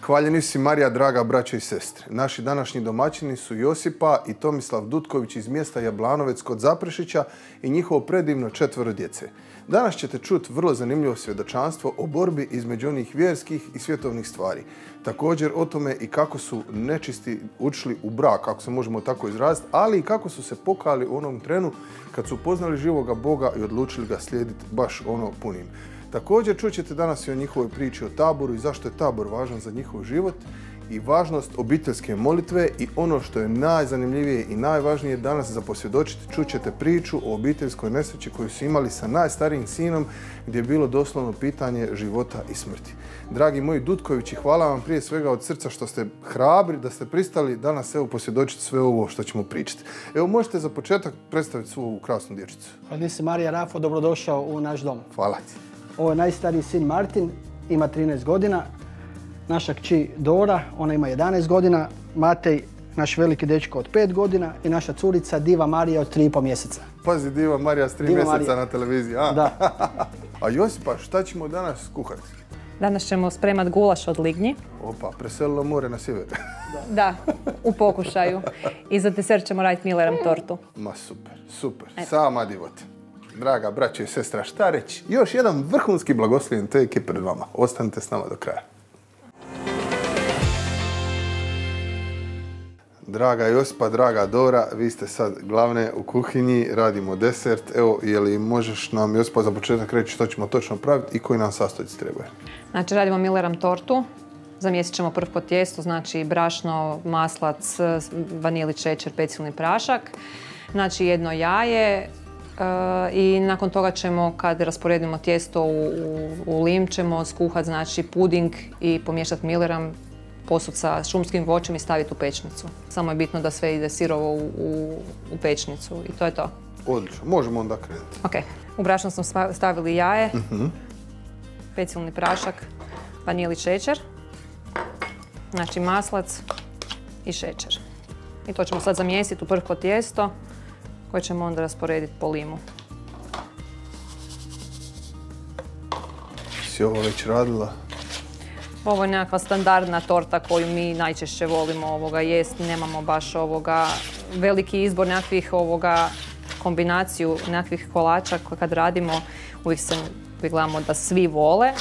Hvaljeni si Marija, draga braćo i sestre. Naši današnji domaćini su Josipa i Tomislav Dutković iz mjesta Jablanovec kod Zaprešića i njihovo predivno 4 djece. Danas ćete čuti vrlo zanimljivo svjedočanstvo o borbi između onih vjerskih i svjetovnih stvari. Također o tome i kako su nečisti ušli u brak, ako se možemo tako izraziti, ali i kako su se pokajali u onom trenu kad su upoznali živoga Boga i odlučili ga slijediti baš ono punim. Također čućete danas i o njihovoj priči o taboru i zašto je tabor važan za njihov život i važnost obiteljske molitve i ono što je najzanimljivije i najvažnije danas za posvjedočiti, čućete priču o obiteljskoj nesreći koju su imali sa najstarijim sinom gdje je bilo doslovno pitanje života i smrti. Dragi moji Dutkovići, hvala vam prije svega od srca što ste hrabri, da ste pristali danas evo posvjedočiti sve ovo što ćemo pričati. Evo možete za početak predstaviti svu ovu krasnu dječicu. Hvala se Marija Rafo, dobrodošao u naš dom. Hvala ti. Ovo je najstariji sin Martin, ima 13 godina. Naša kći Dora, ona ima 11 godina. Matej, naš veliki dečko od 5 godina i naša curica Diva Marija od 3,5 mjeseca. Pazi, Diva Marija s 3 mjeseca na televiziji. Da. A Josipa, šta ćemo danas kuhati? Danas ćemo spremati gulaš od lignji. Opa, preselilo more na sjever. Da, u pokušaju. I za desert ćemo raditi Milleram tortu. Ma super, super. Sama divota. Draga braćo i sestra, šta reći? Još jedan vrhunski blagoslovljen take pred vama. Ostanite s nama do kraja. Draga Josipa, draga Dora, vi ste sad glavne u kuhinji, radimo desert. Evo, je li možeš nam, Josipa, za početak reći što ćemo točno praviti i koji nam sastojci trebaju? Znači, radimo Milleram tortu. Zamjesit ćemo prvo tijesto, znači brašno, maslac, vanili, šećer, pecilni prašak. Znači, 1 jaje. I nakon toga ćemo, kad rasporedimo tijesto u lim, ćemo skuhati znači puding i pomiješati Milleram, posut sa šumskim voćem i staviti u pečnicu. Samo je bitno da sve ide sirovo u pečnicu i to je to. Odlično, možemo onda krenuti. Ok, u brašno smo stavili jaje, pecilni prašak, vanili, šećer, znači maslac i šećer. I to ćemo sad zamjesiti u prvo tijesto koje ćemo onda rasporediti po limu. Si ovo već radila? Ovo je nekakva standardna torta koju mi najčešće volimo jesti. Nemamo baš veliki izbor nekakvih kombinaciju nekakvih kolača kad radimo. Uvijek gledamo da svi vole.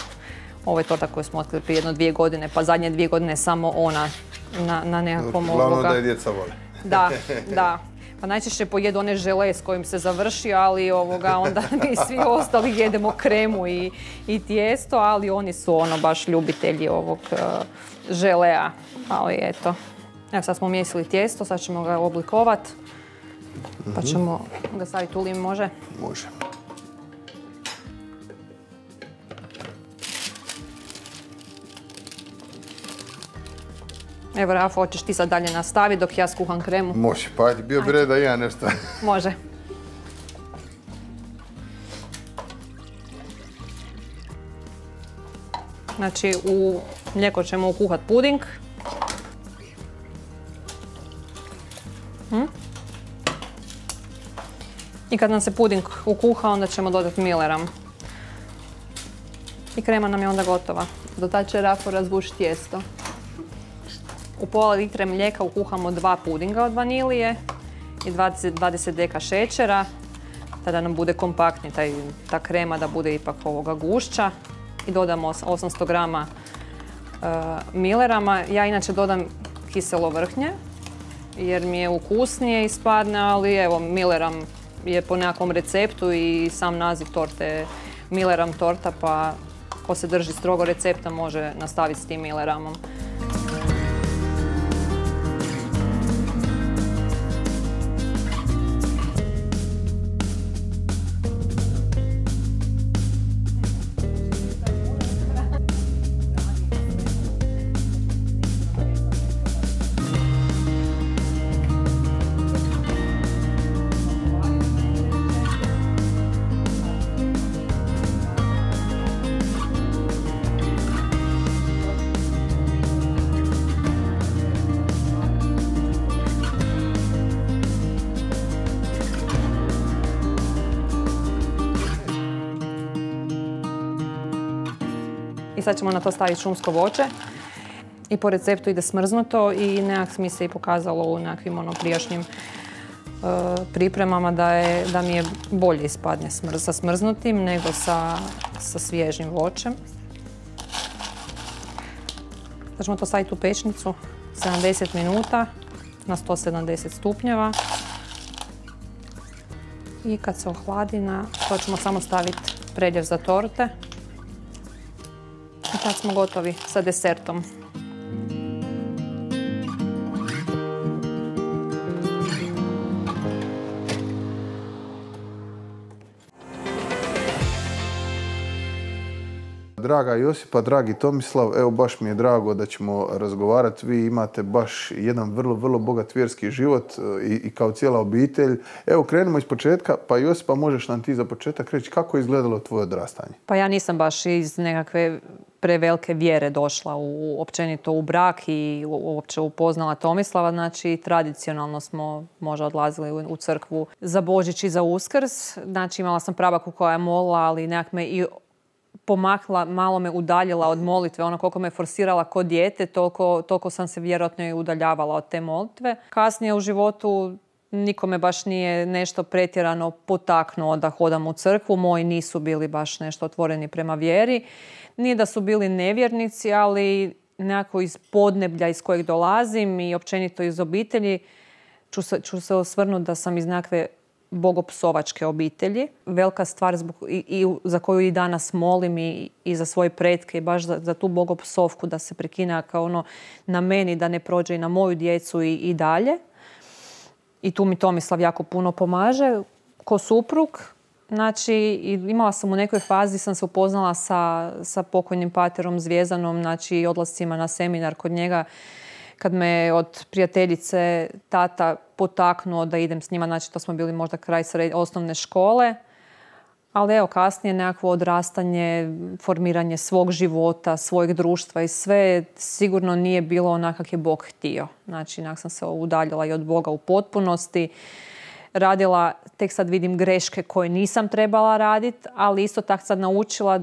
Ovo je torta koju smo otkrili prije 1-2 godine, pa zadnje 2 godine samo ona na nekakvom Glavno da je djeca vole. Da, da. Pa najčešće pojedu one žele s kojim se završi, ali onda mi svi ostali jedemo kremu i tijesto, ali oni su baš ljubitelji ovog želea. Ali eto, evo sad smo umjesili tijesto, sad ćemo ga oblikovati, pa ćemo ga staviti u lim, može? Može. Evo, Rafo, hoćeš ti sad dalje nastaviti dok ja skuham kremu? Može, pa ajde, bio bi red da ja nešto. Može. Znači, u mlijeko ćemo ukuhati puding. I kad nam se puding ukuha, onda ćemo dodati Milleram. I krema nam je onda gotova. Do tada će Rafo razvući tijesto. U pola litre mlijeka ukuhamo 2 pudinga od vanilije i 20 deka šećera, tada nam bude kompaktni ta krema, da bude ipak gušća. I dodamo 800 grama Millerama. Ja inače dodam kiselo vrhnje, jer mi je ukusnije ispadne, ali evo, Milleram je po nekakvom receptu i sam naziv torte je Milleram torta, pa ko se drži strogo recepta može nastaviti s tim Milleramom. I sad ćemo na to staviti šumsko voće i po receptu ide smrznuto i nekak mi se i pokazalo u nekakvim prijašnjim pripremama da mi je bolje ispadne sa smrznutim nego sa svježim voćem. Sad ćemo to staviti u pečnicu 70 minuta na 170 stupnjeva. I kad se ohladi, to ćemo samo staviti predjev za torte. I tad smo gotovi sa desertom. Draga Josipa, dragi Tomislav, evo baš mi je drago da ćemo razgovarati. Vi imate baš jedan vrlo, vrlo bogat vjerski život i kao cijela obitelj. Evo krenemo iz početka, pa Josipa možeš nam ti za početak reći kako je izgledalo tvoje odrastanje? Pa ja nisam baš iz nekakve prevelike vjere došla općenito u brak i uopće upoznala Tomislava. Znači, tradicionalno smo možda odlazili u crkvu za Božić i za Uskrs. Znači, imala sam prabaku koja je molila, ali nekak me i pomakla, malo me udaljila od molitve. Ono koliko me forsirala ko dijete, toliko sam se vjerojatno i udaljavala od te molitve. Kasnije u životu nikome baš nije nešto pretjerano potaknuo da hodam u crkvu. Moji nisu bili baš nešto otvoreni prema vjeri. Nije da su bili nevjernici, ali nekako iz podneblja iz kojeg dolazim i općenito iz obitelji ću se osvrnuti da sam iz nekakve bogopsovačke obitelji. Velika stvar za koju i danas molim i za svoje pretke i baš za tu bogopsovku da se prekine kao na meni, da ne prođe i na moju djecu i dalje. I tu mi Tomislav jako puno pomaže ko suprug. Znači, imala sam u nekoj fazi, sam se upoznala sa pokojnim paterom Zvijezdanom, znači odlascima na seminar kod njega, kad me od prijateljice tata potaknuo da idem s njima, znači to smo bili možda kraj osnovne škole. Ali evo, kasnije nekakvo odrastanje, formiranje svog života, svojeg društva i sve sigurno nije bilo onak kak je Bog htio. Znači, nekak sam se udaljila i od Boga u potpunosti. Radila, tek sad vidim greške koje nisam trebala raditi, ali isto tako sad naučila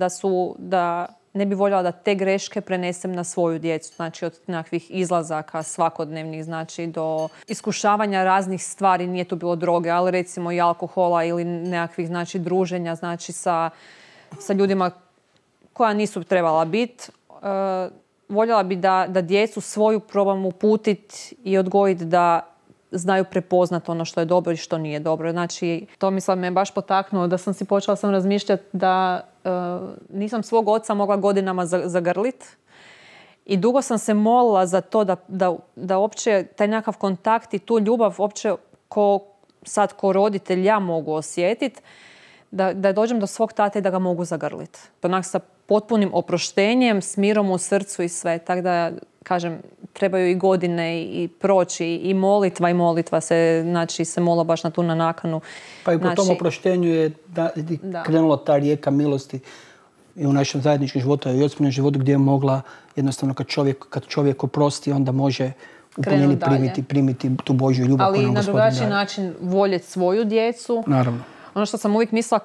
da ne bi voljela da te greške prenesem na svoju djecu. Znači od nekakvih izlazaka svakodnevnih, znači do iskušavanja raznih stvari, nije tu bilo droge, ali recimo i alkohola ili nekakvih znači druženja znači sa ljudima koja nisu trebala biti. Voljela bi da djecu svoju probam uputiti i odgojiti da znaju prepoznati ono što je dobro i što nije dobro. Znači, Tomislav me baš potaknuo da sam si počela razmišljati da nisam svog oca mogla godinama zagrliti. I dugo sam se molila za to da uopće taj nekakav kontakt i tu ljubav uopće ko roditelj ja mogu osjetiti, da dođem do svog tate i da ga mogu zagrliti. Onak sa potpunim oproštenjem, s mirom u srcu i sve. Tako da, kažem, trebaju i godine i proći i molitva se, znači, se mola baš na tu nakanu. Pa i po tom oproštenju je krenula ta rijeka milosti i u našem zajedničkom životu i Josipnom životu gdje je mogla jednostavno kad čovjek oprosti onda može u punini primiti tu Božju ljubav. Ali na drugačiji način voljeti svoju djecu. Naravno. Ono što sam uvijek mislila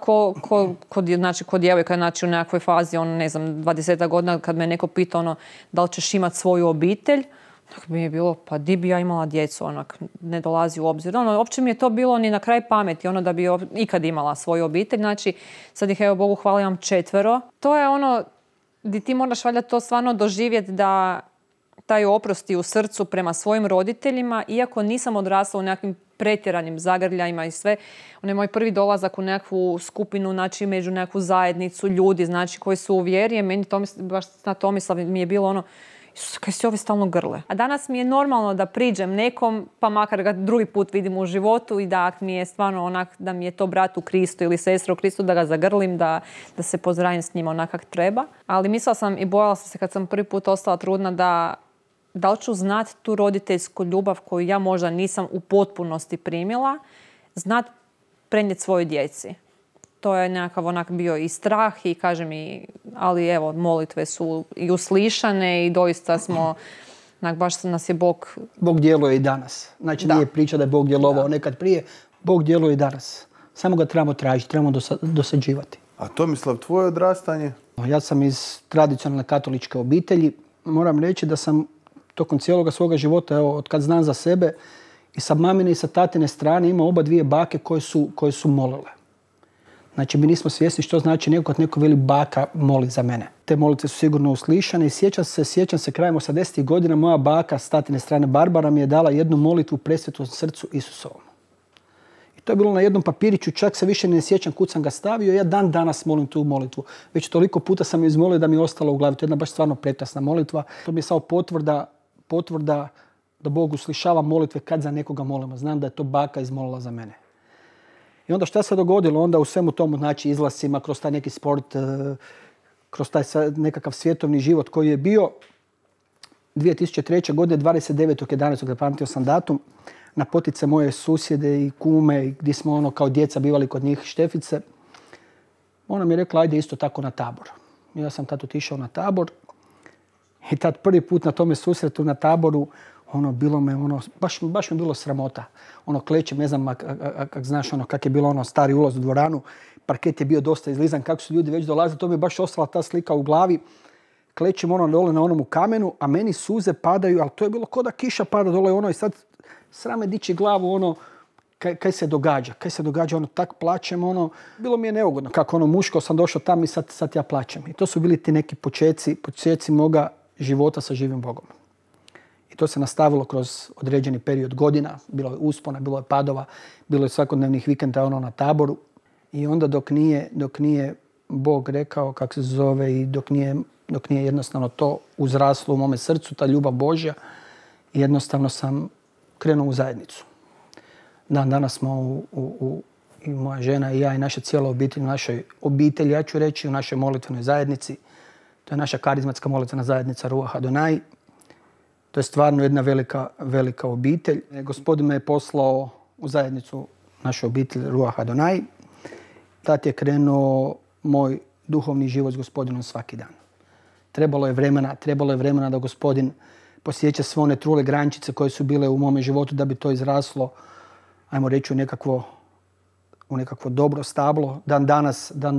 kod djevojka, znači u nekakvoj fazi, 20 godina, kad me neko pita da li ćeš imati svoju obitelj, tako mi je bilo, pa di bi ja imala djecu, ne dolazi u obzir. Uopće mi je to bilo ni na kraj pameti, da bi ikad imala svoju obitelj. Znači, sad ih, evo Bogu hvala, imam 4. To je gdje ti moraš valjda to stvarno doživjeti da taj oprosti u srcu prema svojim roditeljima, iako nisam odrasla u nekakvim pretjeranim zagrljajima i sve. On je moj prvi dolazak u nekakvu skupinu, znači među nekakvu zajednicu ljudi, znači koji su u vjeri. Meni baš na Tomislav mi je bilo Isuse, kaj si ovi stalno grle. A danas mi je normalno da priđem nekom, pa makar ga drugi put vidim u životu i da mi je stvarno da mi je to brat u Kristu ili sestra u Kristu, da ga zagrlim, da se pozdravim s njima onak kak treba. Ali mislila sam i bojala sam se kad sam prvi put ostala trudna da li ću znati tu roditeljsku ljubav koju ja možda nisam u potpunosti primila, znati prenijeti svojoj djeci. To je nekakav bio i strah i kažem ali evo, molitve su i uslišane i doista smo, baš nas je Bog... Bog djeluje i danas. Znači nije priča da je Bog djelovao nekad prije, Bog djeluje i danas. Samo ga trebamo tražiti, trebamo dosađivati. A Tomislav, tvoje odrastanje? Ja sam iz tradicionalne katoličke obitelji. Moram reći da sam tokom cijeloga svoga života, evo, od kad znam za sebe, i sa mamine i sa tatine strane ima oba dvije bake koje su molile. Znači, mi nismo svjesni što znači neko veli baka moli za mene. Te molitve su sigurno uslišane i sjećam se krajem 80. godina moja baka s tatine strane Barbara mi je dala jednu molitvu Presvetom srcu Isusovom. I to je bilo na jednom papiriću, čak se više ne sjećam kud sam ga stavio. Ja dan danas molim tu molitvu. Već toliko puta sam je izmolio da mi je ostalo u glavi. To je jedna baš stvarno prekrasna molitva. To mi je samo potvrda da Bog uslišava molitve kad za nekoga molimo. Znam da je to baka izmolila za mene. I onda šta se dogodilo? Onda u svemu tomu, znači izlasima, kroz taj neki sport, kroz taj nekakav svjetovni život koji je bio 2003. godine, 29.11. zapamtio sam datum, na potice moje susjede i kume, gdje smo kao djeca bivali kod njih Štefice. Ona mi je rekla, ajde isto tako na tabor. Ja sam tad otišao na tabor i tad prvi put na tome susretu na taboru, bilo me, baš mi bilo sramota. Klećem, ne znam kak znaš, kak je bilo stari ulaz u dvoranu. Parket je bio dosta izlizan, kako su ljudi već dolazili, to mi je baš ostala ta slika u glavi. Klećem dole na onom kamenu, a meni suze padaju, ali to je bilo ko da kiša pada dole i sad srame dići glavu, kaj se događa, tak plačem, bilo mi je neugodno. Kako muško sam došao tam i sad ja plačem. I to su bili ti neki počeci moga života sa živim Bogom. I to se nastavilo kroz određeni period godina. Bilo je uspona, bilo je padova, bilo je svakodnevnih vikenda na taboru. I onda dok nije Bog rekao kako se zove i dok nije jednostavno to uzraslo u mome srcu, ta ljubav Božja, jednostavno sam krenuo u zajednicu. Danas smo i moja žena i ja i naša cijela obitelj, u našoj obitelji, ja ću reći, u našoj molitvenoj zajednici. To je naša karizmatska molitvena zajednica Ruach Adonai. To je stvarno jedna velika obitelj. Gospodin me je poslao u zajednicu našu obitelj Ruach Adonai. Tad je krenuo moj duhovni život s Gospodinom svaki dan. Trebalo je vremena da Gospodin posjeća sve one trule grančice koje su bile u mome životu da bi to izraslo, ajmo reći, u nekakvo dobro stablo. Dan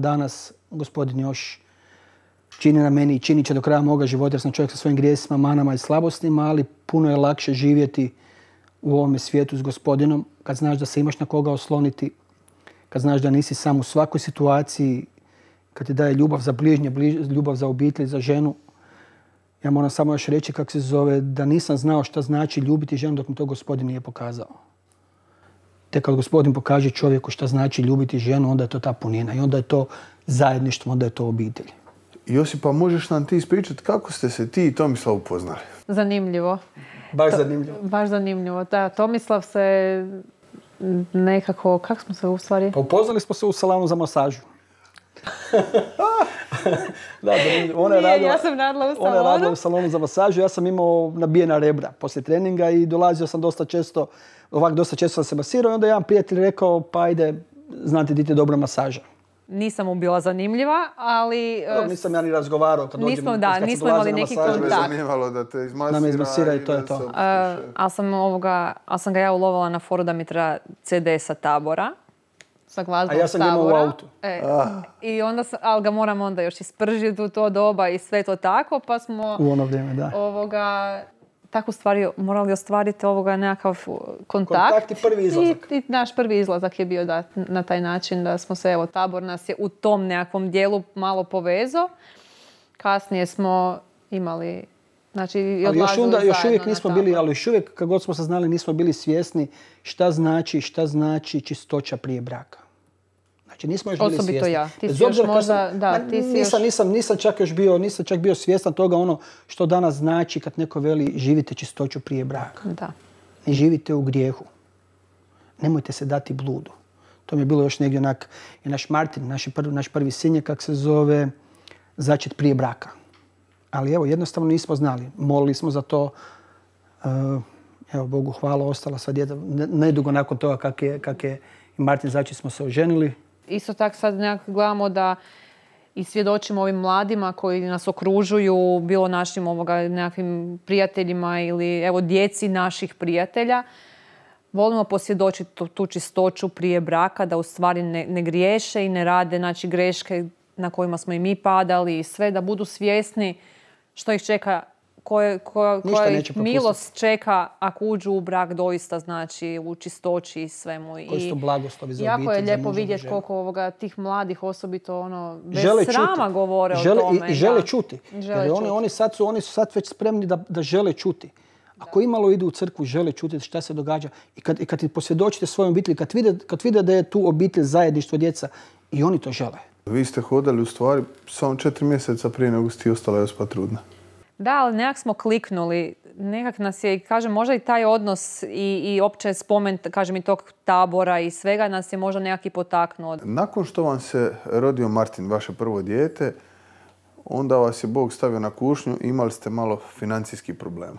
danas Gospodin još čini na meni i činit će do kraja moga života jer sam čovjek sa svojim grijesima, manama i slabostima, ali puno je lakše živjeti u ovome svijetu s Gospodinom kad znaš da se imaš na koga osloniti, kad znaš da nisi sam u svakoj situaciji, kad ti daje ljubav za bližnje, ljubav za obitelj, za ženu. Ja moram samo još reći kako se zove, da nisam znao šta znači ljubiti ženu dok mi to Gospodin nije pokazao. Te kad Gospodin pokaže čovjeku šta znači ljubiti ženu, onda je to ta punina i onda je to zajedništvo, onda je to obitelj. Josipa, možeš nam ti ispričati kako ste se ti i Tomislav upoznali? Zanimljivo. Baš zanimljivo. Da, Tomislav se nekako, kako smo se u stvari? Pa upoznali smo se u salonu za masažu. Ja sam radila u salonu. Ona je radila u salonu za masažu, ja sam imao nabijena rebra poslije treninga i dolazio sam dosta često sam se masirao i onda jedan prijatelj rekao, pa ajde, znate di ti je dobra masaža. Nisam mu bila zanimljiva, ali... nisam ja ni razgovarao kad nismo imali neki kontakt. Me zanimalo da te izmasira i to je to. Ali sam ga ja ulovila na foru da mi treba CD sa tabora. Sa glazbom a ja sam ga imao u autu. I onda ali ga moram onda još ispržiti u to doba i sve to tako, pa smo... U ono vrijeme, da. Tako stvari morali ostvariti nekakav kontakt. I prvi izlazak. I naš prvi izlazak je bio na taj način da smo se, tabor nas je u tom nekakvom dijelu malo povezao. Kasnije smo imali, znači i odlazili zajedno još uvijek nismo bili, ali još uvijek kad god smo saznali nismo bili svjesni šta znači čistoća prije braka. Znači nismo još bili svjesni. Osobito ja. Ti si još možda, nisam čak bio svjestan toga što danas znači kad neko veli živite čistoću prije braka. Da. Ne živite u grijehu. Nemojte se dati bludu. To mi je bilo još negdje onak, i naš Martin, naš prvi sin je, kak se zove, začet prije braka. Ali evo, jednostavno nismo znali. Molili smo za to. Evo, Bogu hvala, ostala sva djeta. Nedugo nakon toga kak je i Martin začet smo se oženili. Isto tako sad nekako gledamo da i svjedočimo ovim mladima koji nas okružuju, bilo našim nekakvim prijateljima ili evo djeci naših prijatelja. Volimo posvjedočiti tu čistoću prije braka, da u stvari ne griješe i ne rade greške na kojima smo i mi padali i sve, da budu svjesni što ih čeka koja milost čeka ako uđu u brak doista, znači u čistoći i svemu. Koji su to blagoslovi za jako obitelj. Je lijepo vidjeti koliko tih mladih osobito bez žele srama čuti. govore o tome. I žele čuti. Jer oni su sad već spremni da žele čuti. Ako imalo idu u crkvu, žele čuti šta se događa. I kad ti posvjedočite svojom obitelji, kad vide da je tu obitelj, zajedništvo, djeca, i oni to žele. Vi ste hodali u stvari samo 4 mjeseca prije nego ste ostala Josipa trudna. Da, ali nekak smo kliknuli. Nekak nas je, kažem, možda i taj odnos i opće spomen, kažem, i tog tabora i svega nas je možda nekak i potaknuo. Nakon što vam se rodio Martin, vaše prvo dijete, onda vas je Bog stavio na kušnju i imali ste malo financijskih problema.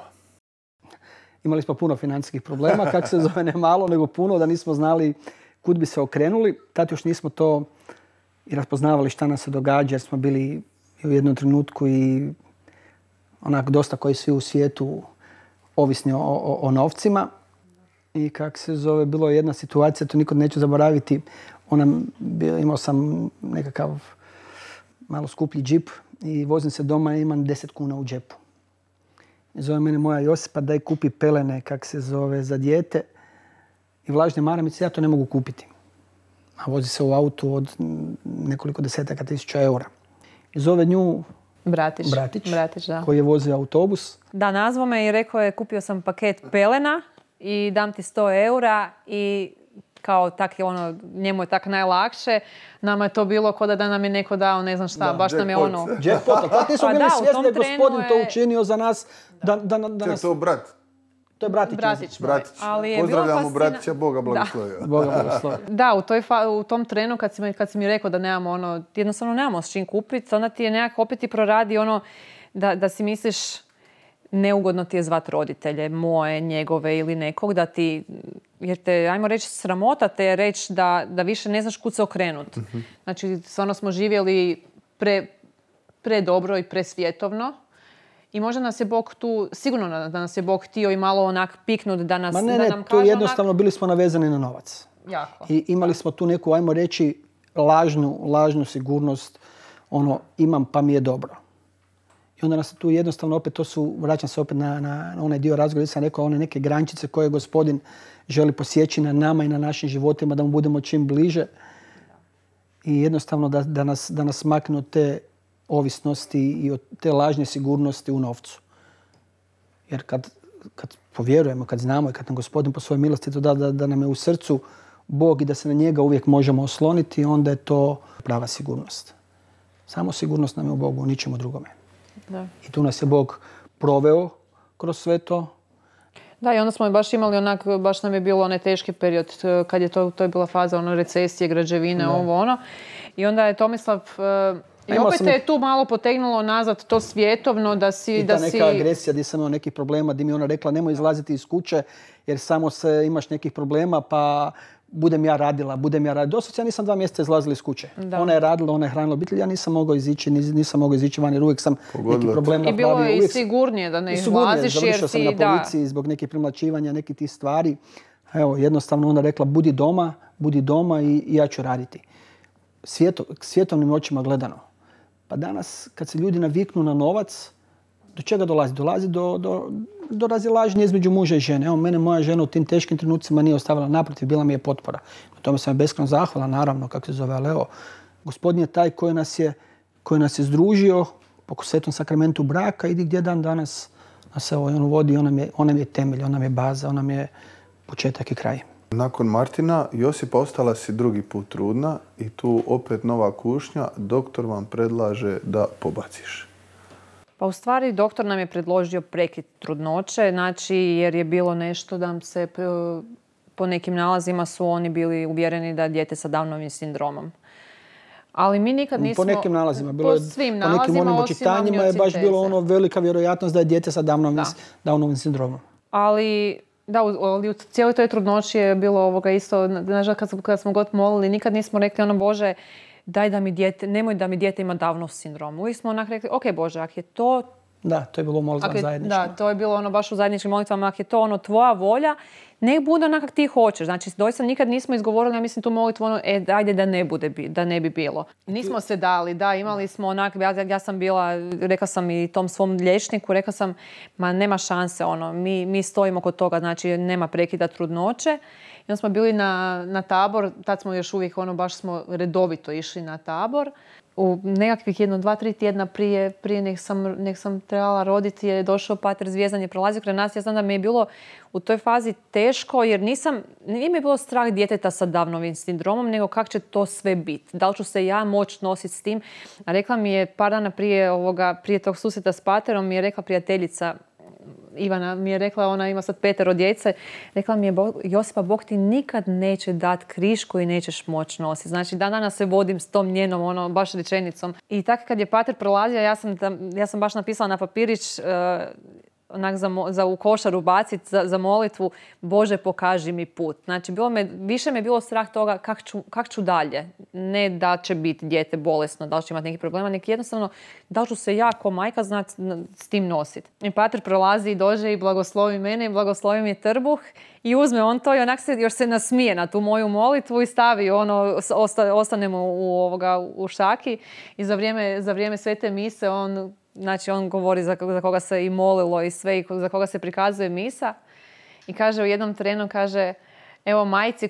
Imali smo puno financijskih problema, kako se zove, ne malo, nego puno, da nismo znali kud bi se okrenuli. Tad još nismo to i raspoznavali šta nam se događa, jer smo bili u jednom trenutku i onak dosta koji svi u svijetu ovisni o novcima. I kako se zove, bilo je jedna situacija, to nikad neću zaboraviti. Imao sam nekakav malo skuplji džip i vozim se doma i imam 10 kuna u džepu. I zove mene moja Josipa, daj kupi pelene, kak se zove, za dijete i vlažne maramice, ja to ne mogu kupiti. A vozi se u autu od nekoliko desetaka tisuća eura. I zove nju Bratić, da. Koji je vozio autobus. Da, nazvao me i rekao je kupio sam paket pelena i dam ti 100 eura i kao tak je ono, njemu je tak najlakše. Nama je to bilo kao da nam je neko dao, ne znam šta, baš nam je ono... Jackpot, kako nismo bili svjesni da je gospodin to učinio za nas. Ček, to brat? To je Bratić. Pozdravljamo Bratića, Boga blagoslovio. Da, u tom trenu kad si mi rekao da nemamo ono, jednostavno nemamo s čim kupiti, onda ti je nekako opet ti proradi ono da si misliš neugodno ti je zvat roditelje, moje, njegove ili nekog, da ti, jer te, ajmo reći, sramota te je reći da više ne znaš kud se okrenut. Znači, stvarno smo živjeli predobro i presvjetovno. I možda nas je Bog tu, sigurno da nas je Bog htio i malo onak piknut da nas da nam kaže. Tu jednostavno bili smo navezani na novac. Jako. I imali smo tu neku, ajmo reći, lažnu sigurnost, ono, imam pa mi je dobro. I onda nas tu jednostavno opet, vraćam se opet na onaj dio razgovora, gdje sam rekao, one neke grančice koje gospodin želi posjeći na nama i na našim životima, da mu budemo čim bliže. I jednostavno da nas makne od te ovisnosti i od te lažne sigurnosti u novcu. Jer kad povjerujemo, kad znamo i kad nam gospodin po svojoj milosti to da nam je u srcu Bog i da se na njega uvijek možemo osloniti, onda je to prava sigurnost. Samo sigurnost nam je u Bogu, u ničemu drugome. Da. I tu nas je Bog proveo kroz sve to. Da, i onda smo baš imali baš nam je bilo onaj teški period kad je to je bila faza recesije, građevine, ovo ono. I onda je Tomislav... I opet te je tu malo potegnulo nazad to svjetovno da si... I ta neka agresija gdje sam imao nekih problema, gdje mi ona rekla nemoj izlaziti iz kuće jer samo imaš nekih problema pa budem ja radila. Doslovce ja nisam 2 mjeseca izlazila iz kuće. Da. Ona je radila, ona je hranila obitelj, ja nisam mogao izići van jer uvijek sam neki problem napravio. I bilo je i sigurnije da ne izlaziš jer si... Završio sam na policiji zbog nekih primlačivanja, nekih tih stvari. Evo, jednostavno ona rekla budi doma i ja ću raditi. Svjetovnim očima gledano. Pa danas, kad se ljudi naviknu na novac, do čega dolazi? Dolazi do razilaženja između muža i žene. Evo, mene moja žena u tim teškim trenucima nije ostavila, naprotiv, bila mi je potpora. Na tome sam je beskrajno zahvalan, naravno, kako se zove, ali evo, gospodin je taj koji nas je združio po svetom sakramentu braka, idi gdje dan danas nas evo, on vodi, on nam je temelj, on nam je baza, on nam je početak i kraj. Nakon Martina, Josipa ostala si drugi put trudna i tu opet nova kušnja. Doktor vam predlaže da pobaciš. Pa u stvari doktor nam je predložio prekid trudnoće, znači jer je bilo nešto da se po nekim nalazima su oni bili uvjereni da je dijete sa Downovim sindromom. Ali mi nikad nismo... Po nekim nalazima. Po nekim onim očitanjima je baš bilo velika vjerojatnost da je dijete sa Downovim sindromom. Ali u cijeloj toj trudnoći je bilo isto, nažalost kad smo god molili, nikad nismo rekli Bože, daj da mi dijete, nemoj da mi dijete ima Downov sindrom. Uvijek smo onak rekli, ok Bože, ako je to... Da, to je bilo molitva zajednička. Da, to je bilo baš u zajedničkim molitvama, ako je to tvoja volja, nek bude onak kak ti hoćeš. Znači, doista nikad nismo izgovorili, ja mislim, tu molitvu ono, ajde da ne bi bilo. Nismo se dali, da, imali smo onak, ja sam bila, rekla sam i tom svom liječniku, rekla sam, ma nema šanse, ono, mi stojimo kod toga, znači nema prekida trudnoće. I onda smo bili na tabor, tad smo još uvijek, ono, baš smo redovito išli na tabor. U nekakvih 1, 2, 3 tjedna prije nek sam trebala roditi je došao pater Zvijezdan, je prolazio kraj nas. Ja znam da mi je bilo u toj fazi teško jer nije mi bilo strah djeteta sa Downovim sindromom, nego kako će to sve biti. Da li ću se ja moći nositi s tim? A rekla mi je par dana prije tog susreta s paterom, mi je rekla prijateljica Ivana, mi je rekla, ona ima sad 5 djece, rekla mi je, Josipa, Bog ti nikad neće dati križ koji nećeš moći nositi. Znači, dan danas se vodim s tom njenom, ono, baš rečenicom. I tako kad je pater prolazio, ja sam baš napisala na papirić, onak za u košaru baciti za molitvu, Bože, pokaži mi put. Znači, više me bilo strah toga kak ću dalje. Ne da će biti dijete bolesno, da li će imati neki problema, nek jednostavno da li ću se ja ko majka znati s tim nositi. I pater prolazi i dođe i blagoslovi mene i blagoslovi mi trbuh i uzme on to i onak još se nasmije na tu moju molitvu i stavi ono, ostanemo u šaki i za vrijeme svete mise on govori za koga se i molilo i sve, i za koga se prikazuje misa. I kaže u jednom trenu, kaže, evo majci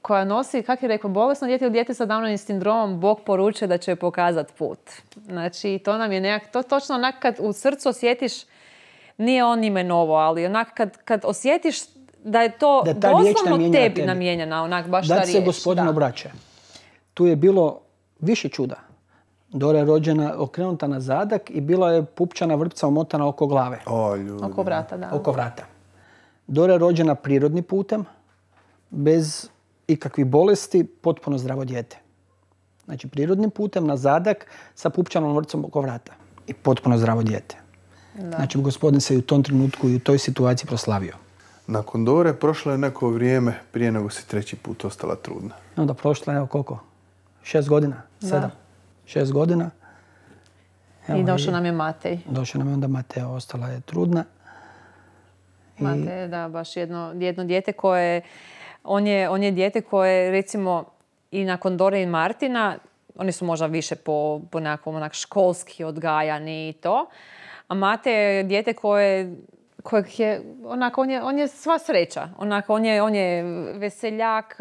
koja nosi, kako je rekao, bolesno dijete ili dijete sa Downovim sindromom, Bog poručuje da će joj pokazati put. Znači, to nam je to točno onak kad u srcu osjetiš, nije on imenovao, ali onak kad osjetiš da je to doslovno tebi namijenjena, onak baš ta riječ. Da se Gospodin obraća. Tu je bilo više čuda. Dora je rođena okrenuta na zadak i bila je pupčana vrpca omotana oko glave. Oko vrata, da. Oko vrata. Dora je rođena prirodnim putem, bez ikakvih bolesti, potpuno zdravo dijete. Znači, prirodnim putem na zadak sa pupčanom vrpcom oko vrata. I potpuno zdravo dijete. Da. Znači, Gospodin se i u tom trenutku i u toj situaciji proslavio. Nakon Dore prošlo je neko vrijeme prije nego si 3. put ostala trudna. Onda prošlo je, evo koliko? 6 godina? 7? 6 godina. Evo, i došao nam je Matej. Došao nam je onda Matej, ostala je trudna. Matej, da, baš jedno dijete koje, on je dijete koje, recimo, i nakon Dore i Martina, oni su možda više po nekakvom onak školski odgajani i to, a Matej je dijete kojeg je, onako, on je sva sreća. Onako, on je veseljak,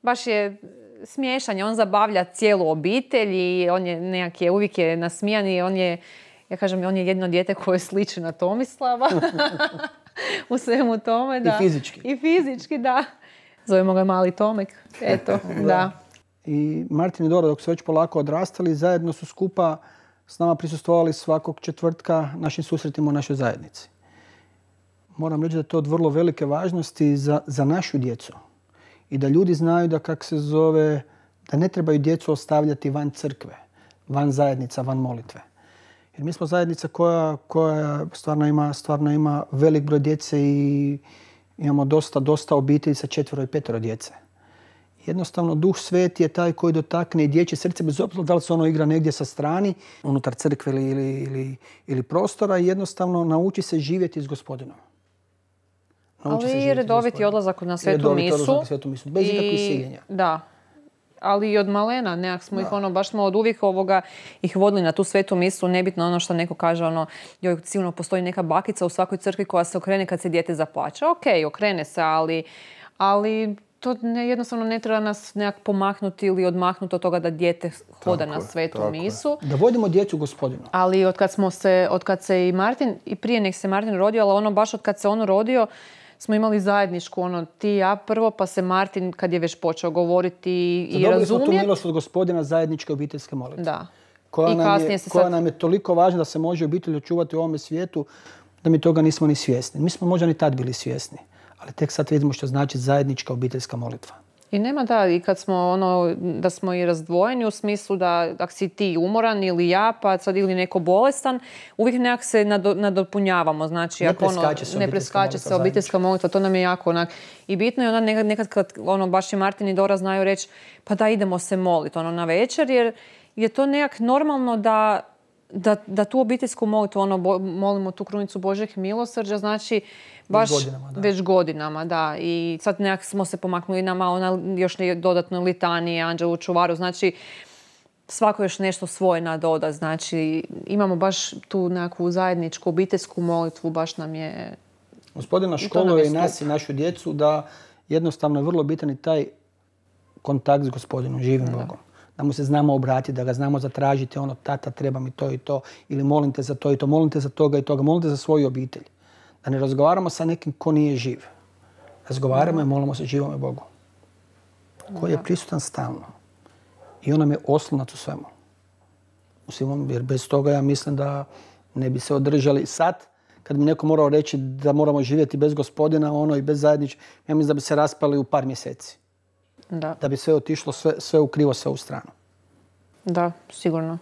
baš je smiješan, on zabavlja cijelu obitelj i on je uvijek je nasmijan i on je jedno dijete koje sliči na Tomislava u svemu tome. Da. I fizički, da. Zovemo ga mali Tomek. Eto, da. I Martin i Dora, dok su već polako odrastali, zajedno su skupa s nama prisustvovali svakog četvrtka našim susretima u našoj zajednici. Moram reći da je to od vrlo velike važnosti za našu djecu. I da ljudi znaju da da ne trebaju djecu ostavljati van crkve, van zajednica, van molitve. Jer mi smo zajednica koja stvarno ima velik broj djece i imamo dosta obitelji sa 4 i 5 djece. Jednostavno, Duh Sveti je taj koji dotakne i dječje srce, bez obzira da li se ono igra negdje sa strani, unutar crkve ili prostora, i jednostavno nauči se živjeti s Gospodinom. Ali i redoviti odlazak na svetu misu. Bez ikakvih siljenja. Da. Ali i od malena, nekak smo ih baš smo od uvijek ih vodili na tu svetu misu, nebitno ono što neko kaže, joj, sigurno postoji neka bakica u svakoj crkvi koja se okrene kad se dijete zaplače. Okej, okrene se, ali to jednostavno ne treba nas nekak pomaknuti ili odmaknuti od toga da dijete hoda na svetu misu. Da vodimo djecu Gospodinu. Ali od kad se i Martin, i prije nek se Martin rodio, ali baš od kad se on rodio, smo imali zajedničku, ti i ja prvo, pa se Martin, kad je već počeo govoriti i razumjeti. Dobili smo tu milost od Gospodina zajedničke obiteljske molitve. Da. Koja nam je toliko važna da se može obitelj očuvati u ovome svijetu, da mi toga nismo ni svjesni. Mi smo možda ni tad bili svjesni, ali tek sad vidimo što znači zajednička obiteljska molitva. I nema i kad smo da smo i razdvojeni u smislu da ako si ti umoran ili ja, pa sad ili neko bolestan, uvijek nekak se nadopunjavamo. Znači, ne preskače se obiteljska molitva, to nam je jako i bitno je onda nekad kad baš i Martin i Dora znaju reći, pa da idemo se moliti na večer, jer je to nekak normalno da tu obiteljsku molitvu, molimo tu krunicu Božjeg milosrđa, znači baš već godinama, da. I sad nekako smo se pomaknuli na malo, još dodatno litanije, anđelu čuvaru, znači svako još nešto svoje nadoda, znači imamo baš tu nekakvu zajedničku obiteljsku molitvu, baš nam je... Gospodina školuje i nas i našu djecu da jednostavno je vrlo bitan i taj kontakt s Gospodinom, živim Bogom. Da mu se znamo obratiti, da ga znamo zatražiti, tata treba mi to i to, ili molim te za to i to, molim te za toga i toga, molim te za svoju obitelj. Da ne razgovaramo sa nekim ko nije živ. Razgovaramo i molimo se živome Bogu. Koji je prisutan stalno. I on nam je oslonac u svemu. Jer bez toga ja mislim da ne bi se održali sad. Kad bi neko morao reći da moramo živjeti bez Gospodina, i bez zajedničkog, ja mislim da bi se raspali u par mjeseci. Da bi sve otišlo, sve u krivo, sve u stranu. Da, sigurno.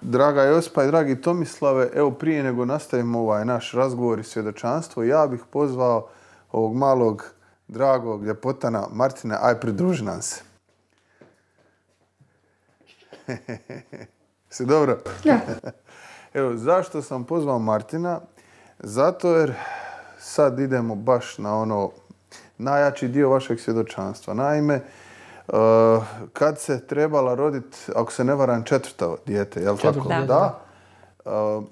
Draga Josipa i dragi Tomislave, evo prije nego nastavimo ovaj naš razgovor i svjedočanstvo, ja bih pozvao ovog malog, dragog ljepotana Martina, aj pridruži nam se. Si dobro? Ja. Evo, zašto sam pozvao Martina? Zato jer sad idemo baš na najjači dio vašeg svjedočanstva. Naime, kad se trebala roditi, ako se ne varam, 4. dijete, jel tako? Da.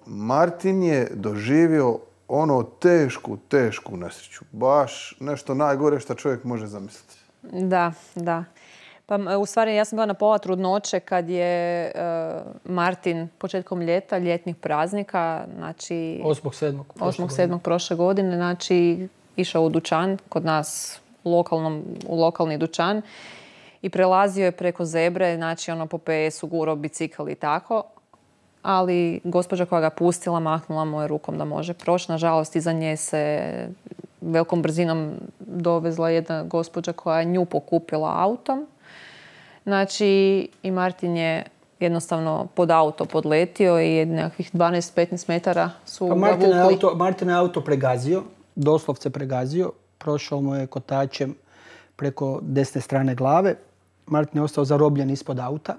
Martin je doživio tešku nesreću. Baš nešto najgore što čovjek može zamisliti. Da. Pa u stvari ja sam bila na pola trudnoće kad je Martin početkom ljeta, ljetnih praznika, znači 8.7. prošle godine, znači išao u dućan kod nas u lokalni dućan i prelazio je preko zebre, znači po PS-u gurao bicikl i tako. Ali gospođa koja ga pustila mahnula mu je rukom da može proći. Nažalost, iza nje se velikom brzinom dovezla jedna gospođa koja je nju pokupila autom. Znači, i Martin je jednostavno pod auto podletio i nekakvih 12-15 metara su ga vukli. Martin je auto pregazio, doslovce pregazio. Prošao mu je kotačem preko desne strane glave. Martin je ostao zarobljen ispod auta.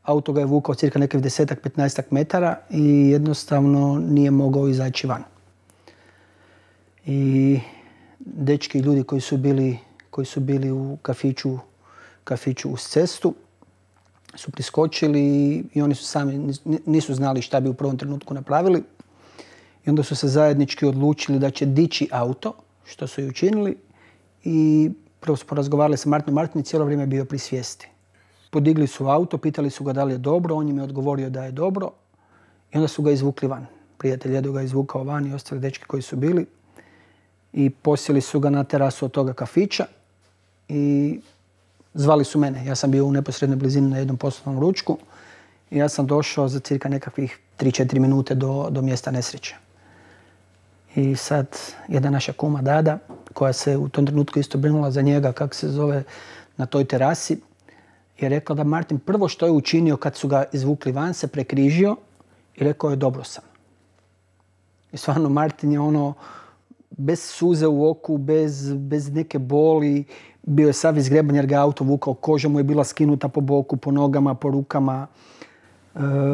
Auto ga je vukao cirka nekih 10-15 metara i jednostavno nije mogao izaći van. I dečki i ljudi koji su bili u kafiću uz cestu su priskočili i oni su sami nisu znali šta bi u prvom trenutku napravili. I onda su se zajednički odlučili da će dići auto, što su i učinili. I prvo su porazgovarali sa Martinom. Martin je cijelo vrijeme bio pri svijesti. Podigli su auto, pitali su ga da li je dobro, on im je odgovorio da je dobro i onda su ga izvukli van. Prijatelj Edo ga izvukao van i ostali dečki koji su bili i posjeli su ga na terasu od toga kafića i zvali su mene. Ja sam bio u neposrednoj blizini na jednom poslovnom ručku i ja sam došao za cirka nekakvih 3-4 minute do mjesta nesreće. I sad jedna naša kuma Dada, koja se u tom trenutku isto brinula za njega, kako se zove, na toj terasi, je rekla da Martin prvo što je učinio kad su ga izvukli van se prekrižio i rekao je dobro sam. I stvarno Martin je bez suze u oku, bez neke boli, bio je sav izgreban jer ga auto vukao, koža mu je bila skinuta po boku, po nogama, po rukama.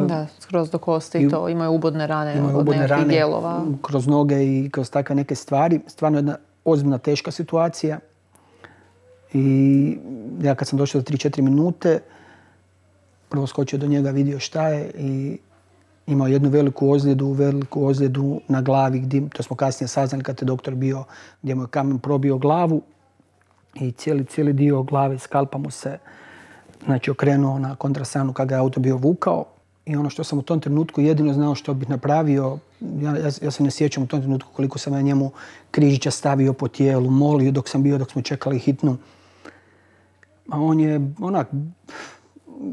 Da, skroz do kosti i to. Imaju ubodne rane od nekih dijelova. Kroz noge i kroz takve neke stvari. Stvarno jedna ozbiljna, teška situacija. I ja kad sam došao do 3-4 minute, prvo skočio do njega, vidio šta je i imao jednu veliku ozljedu na glavi, to smo kasnije saznali kad je doktor bio, gdje mu je kamen probio glavu i cijeli dio glave, skalpa mu se okrenuo na kontrastranu kad ga je auto bio vukao. I ono što sam u tom trenutku jedino znao što bih napravio, ja se ne sjećam u tom trenutku koliko sam ja njemu križića stavio po tijelu, molio dok smo čekali hitnu. A on je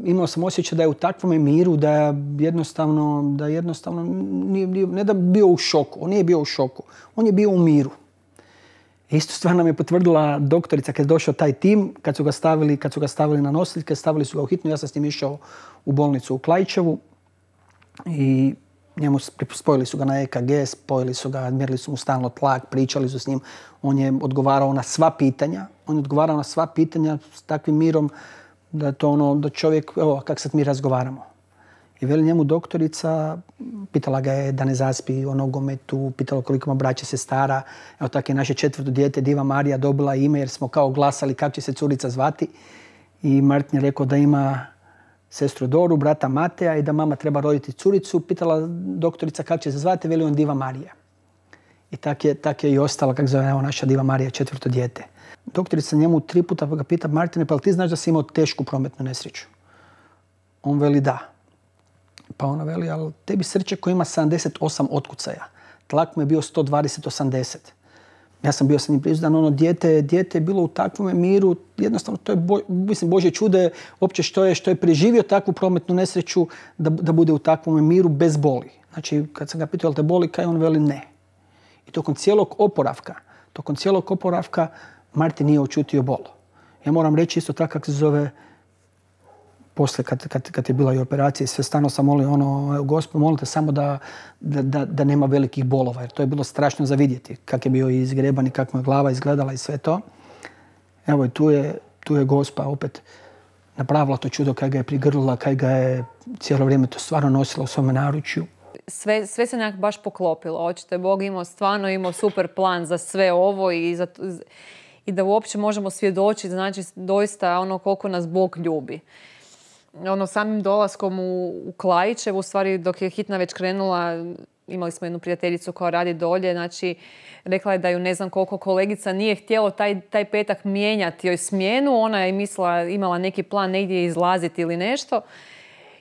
imao sam osjećaj da je u takvom miru, da jednostavno ne da bio u šoku, on nije bio u šoku, on je bio u miru. Istu stvar nam je potvrdila doktorica kad je došao taj tim, kad su ga stavili na nosiljke, stavili su ga u hitnu, ja sam s njim išao u bolnicu u Klaićevu i spojili su ga na EKG, mjerili su mu stalno tlak, pričali su s njim, on je odgovarao na sva pitanja, s takvim mirom da je to da čovjek, evo kak sad mi razgovaramo. I veli njemu doktorica, pitala ga je da ne zaspi o nogometu, pitala koliko ima braće, sestara. Evo tako je naše 4. dijete, Diva Marija, dobila ime jer smo kao glasali kako će se curica zvati. I Martin je rekao da ima sestru Doru, brata Mateja i da mama treba roditi curicu. Pitala doktorica kako će se zvati, veli on Diva Marija. I tak je i ostala, kako zove naša Diva Marija, 4. dijete. Doktorica njemu 3 puta ga pita, Martine, pa ti znaš da si imao tešku prometnu nesreću? On veli da. Pa ona veli, ali tebi srce koji ima 78 otkucaja. Tlak mu je bio 120-80. Ja sam bio sa njim prisutan, dijete je bilo u takvom miru, jednostavno to je, Božje čude, uopće što je preživio takvu prometnu nesreću da bude u takvom miru bez boli. Znači, kad sam ga pitao, jel te boli, kaj on veli ne. I tokom cijelog oporavka Martin nije očutio bol. Ja moram reći isto tako kako se zove, poslije kad je bila i operacija, sve stalno sam molio Gospod, molite samo da nema velikih bolova, jer to je bilo strašno za vidjeti. Kak je bio izgreban i kako mu je glava izgledala i sve to. Evo i tu je Gospa opet napravila to čudo, kaj ga je prigrlila, kaj ga je cijelo vrijeme to stvarno nosila u svome naručju. Sve se nekak baš poklopilo. Očito Bog imao super plan za sve ovo i da uopće možemo svjedočiti, znači doista koliko nas Bog ljubi. Samim dolaskom u Klajićevu, u stvari dok je hitna već krenula, imali smo jednu prijateljicu koja radi dolje, znači rekla je da ju ne znam koliko kolegica nije htjelo taj petak mijenjati joj smjenu, ona je imala neki plan negdje izlaziti ili nešto.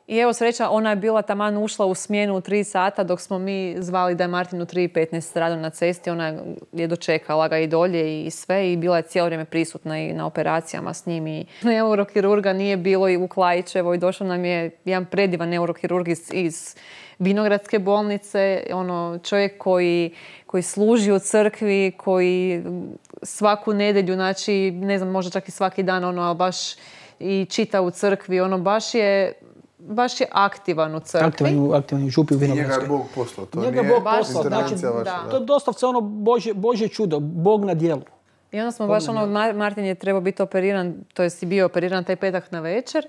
I evo sreća, ona je bila taman ušla u smjenu u 3 sata dok smo mi zvali da je Martin u 3:15 stradao na cesti. Ona je dočekala ga i dolje i sve i bila je cijelo vrijeme prisutna i na operacijama s njim. I neurokirurga nije bilo i u Klajićevoj. Došao nam je jedan predivan neurokirurg iz Vinogradske bolnice. Čovjek koji služi u crkvi, koji svaku nedjelju, znači ne znam, možda čak i svaki dan, baš i čita u crkvi. Baš je aktivan u crkvi. Aktivan u župi u Vinogradskoj. Njega je Bog poslao. To njega nije Bog poslao. intervencija vaša. To je doslovce Božje čudo. Bog na djelu. I onda smo Martin je trebao biti operiran, to jest i bio operiran taj petak na večer.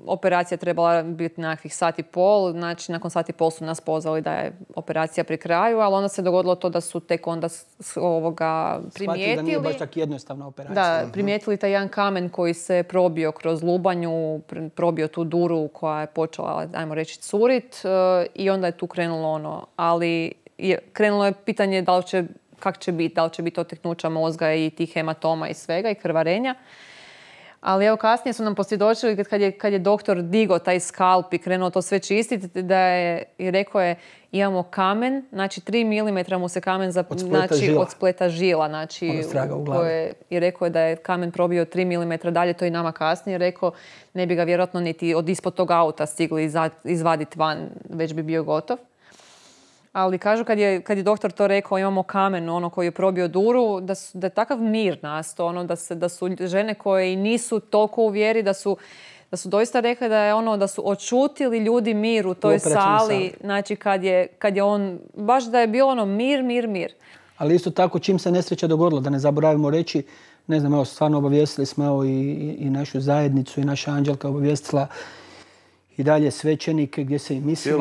Operacija trebala biti nekakvih 1,5 sata, znači nakon 1,5 sata su nas pozvali da je operacija pri kraju, ali onda se dogodilo to da su tek onda primijetili. Shvatili da nije baš tako jednostavna operacija. Da, primijetili taj jedan kamen koji se probio kroz lubanju, probio tu duru koja je počela, ajmo reći, curit i onda je tu krenulo ali krenulo je pitanje kako će biti, da li će biti oteknuća mozga i tih hematoma i svega i krvarenja. Ali evo kasnije su nam posvjedočili kad je doktor digao taj skalp i krenuo to sve čistiti, i rekao je imamo kamen, znači 3 mm mu se kamen od spleta žila. Znači, i rekao je da je kamen probio 3 mm dalje, to i nama kasnije rekao, ne bi ga vjerojatno niti od ispod tog auta stigli izvaditi van, već bi bio gotov. Ali kažu kad je doktor to rekao, imamo kamen koji je probio duru, da je takav mir nastao, da su žene koje nisu toliko u vjeri, da su doista rekli da su očutili ljudi mir u toj sali, znači kad je on, baš da je bilo mir. Ali isto tako čim se nesreća dogodila, da ne zaboravimo reći, ne znam, evo stvarno obavijestili smo i našu zajednicu i naša Anđelka obavijestila i dalje svećenike gdje se i mislilo...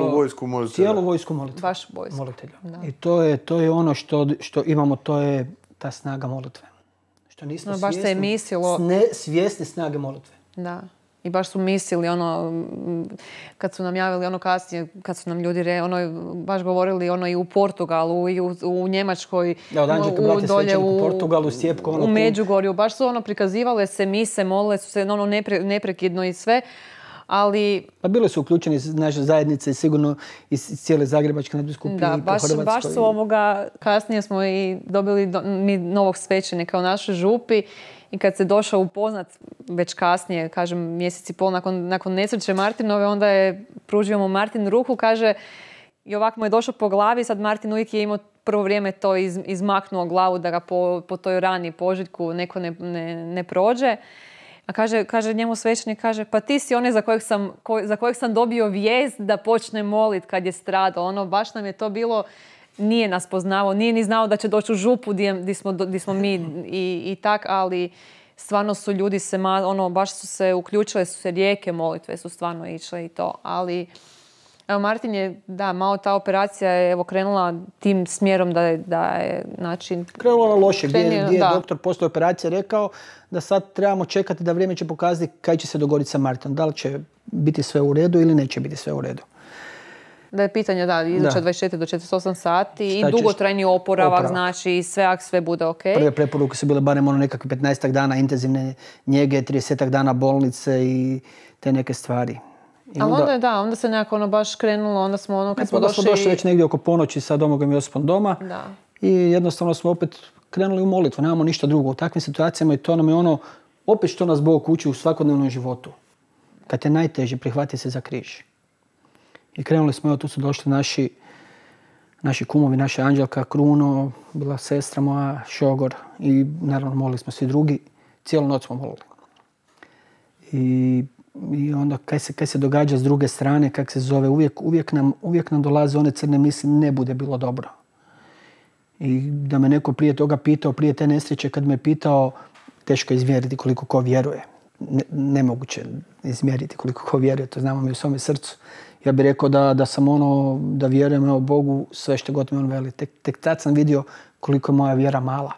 Cijelu vojsku molitve. Baš vojsku. Molitelja. I to je ono što imamo, to je ta snaga molitve. Što nismo baš se je mislilo... svjesni snage molitve. Da. I baš su mislili kad su nam javili kasnije, kad su nam ljudi baš govorili i u Portugalu i u Njemačkoj, dolje u Portugalu, Sjepko, u Međugorju. Baš su prikazivale se mise, molile su se neprekidno i sve. Ali... Pa bile su uključeni iz naše zajednice, sigurno iz cijele Zagrebačke nadbiskupije i po Hrvatskoj. Baš su kasnije smo i dobili mi novog svećenika u našoj župi i kad se došao upoznat već kasnije, kažem mjesec i pol nakon nesreće Martinove, onda je pružio mu Martin ruku, kaže i ovako mu je došao po glavi, sad Martin uvijek je imao prvo vrijeme to izmaknuo glavu da ga po toj rani požiljku neko ne prođe. A kaže njemu svećenik, pa ti si onaj za kojeg sam dobio vijest da počne molit kad je stradao. Baš nam je to bilo, nije nas poznavao, nije ni znao da će doći u župu gdje smo mi i tak, ali stvarno su ljudi se, baš su se uključile, su se rijeke molitve su stvarno išle i to. Ali, evo, Martin je, da, malo ta operacija je, evo, krenula tim smjerom da je, znači... Krenula na loše, gdje je doktor poslije operacije rekao da sad trebamo čekati da vrijeme će pokazati kaj će se dogoditi sa Martinom. Da li će biti sve u redu ili neće biti sve u redu. Da je pitanje, iduća 24 do 48 sati i dugotrajni oporavak, znači i sve bude ok. Prve preporuke su bile barem nekakve 15 dana intenzivne njege, 30 dana bolnice i te neke stvari. Ali onda se nekako baš krenulo, onda smo kad smo došli već negdje oko ponoći sa Domagom Josipom doma i jednostavno smo opet krenuli u molitvu, nemamo ništa drugo. U takvim situacijama i to nam je opet što nas Bog uči u svakodnevnom životu. Kad je najteže, prihvati se za križ. I krenuli smo, tu su došli naši kumovi, naša Anđelka, Kruno, bila sestra moja, šogor i naravno molili smo svi drugi. Cijelu noć smo molili. I onda kaj se događa s druge strane, kak se zove, uvijek nam dolaze one crne misli, ne bude bilo dobro. I da me neko prije toga pitao, prije te nesreće, kad me pitao, teško je izmjeriti koliko ko vjeruje. Nemoguće izmjeriti koliko ko vjeruje, to znamo mi u svome srcu. Ja bih rekao da sam da vjerujem Bogu sve što god mi on veli. Tek tad sam vidio koliko je moja vjera mala.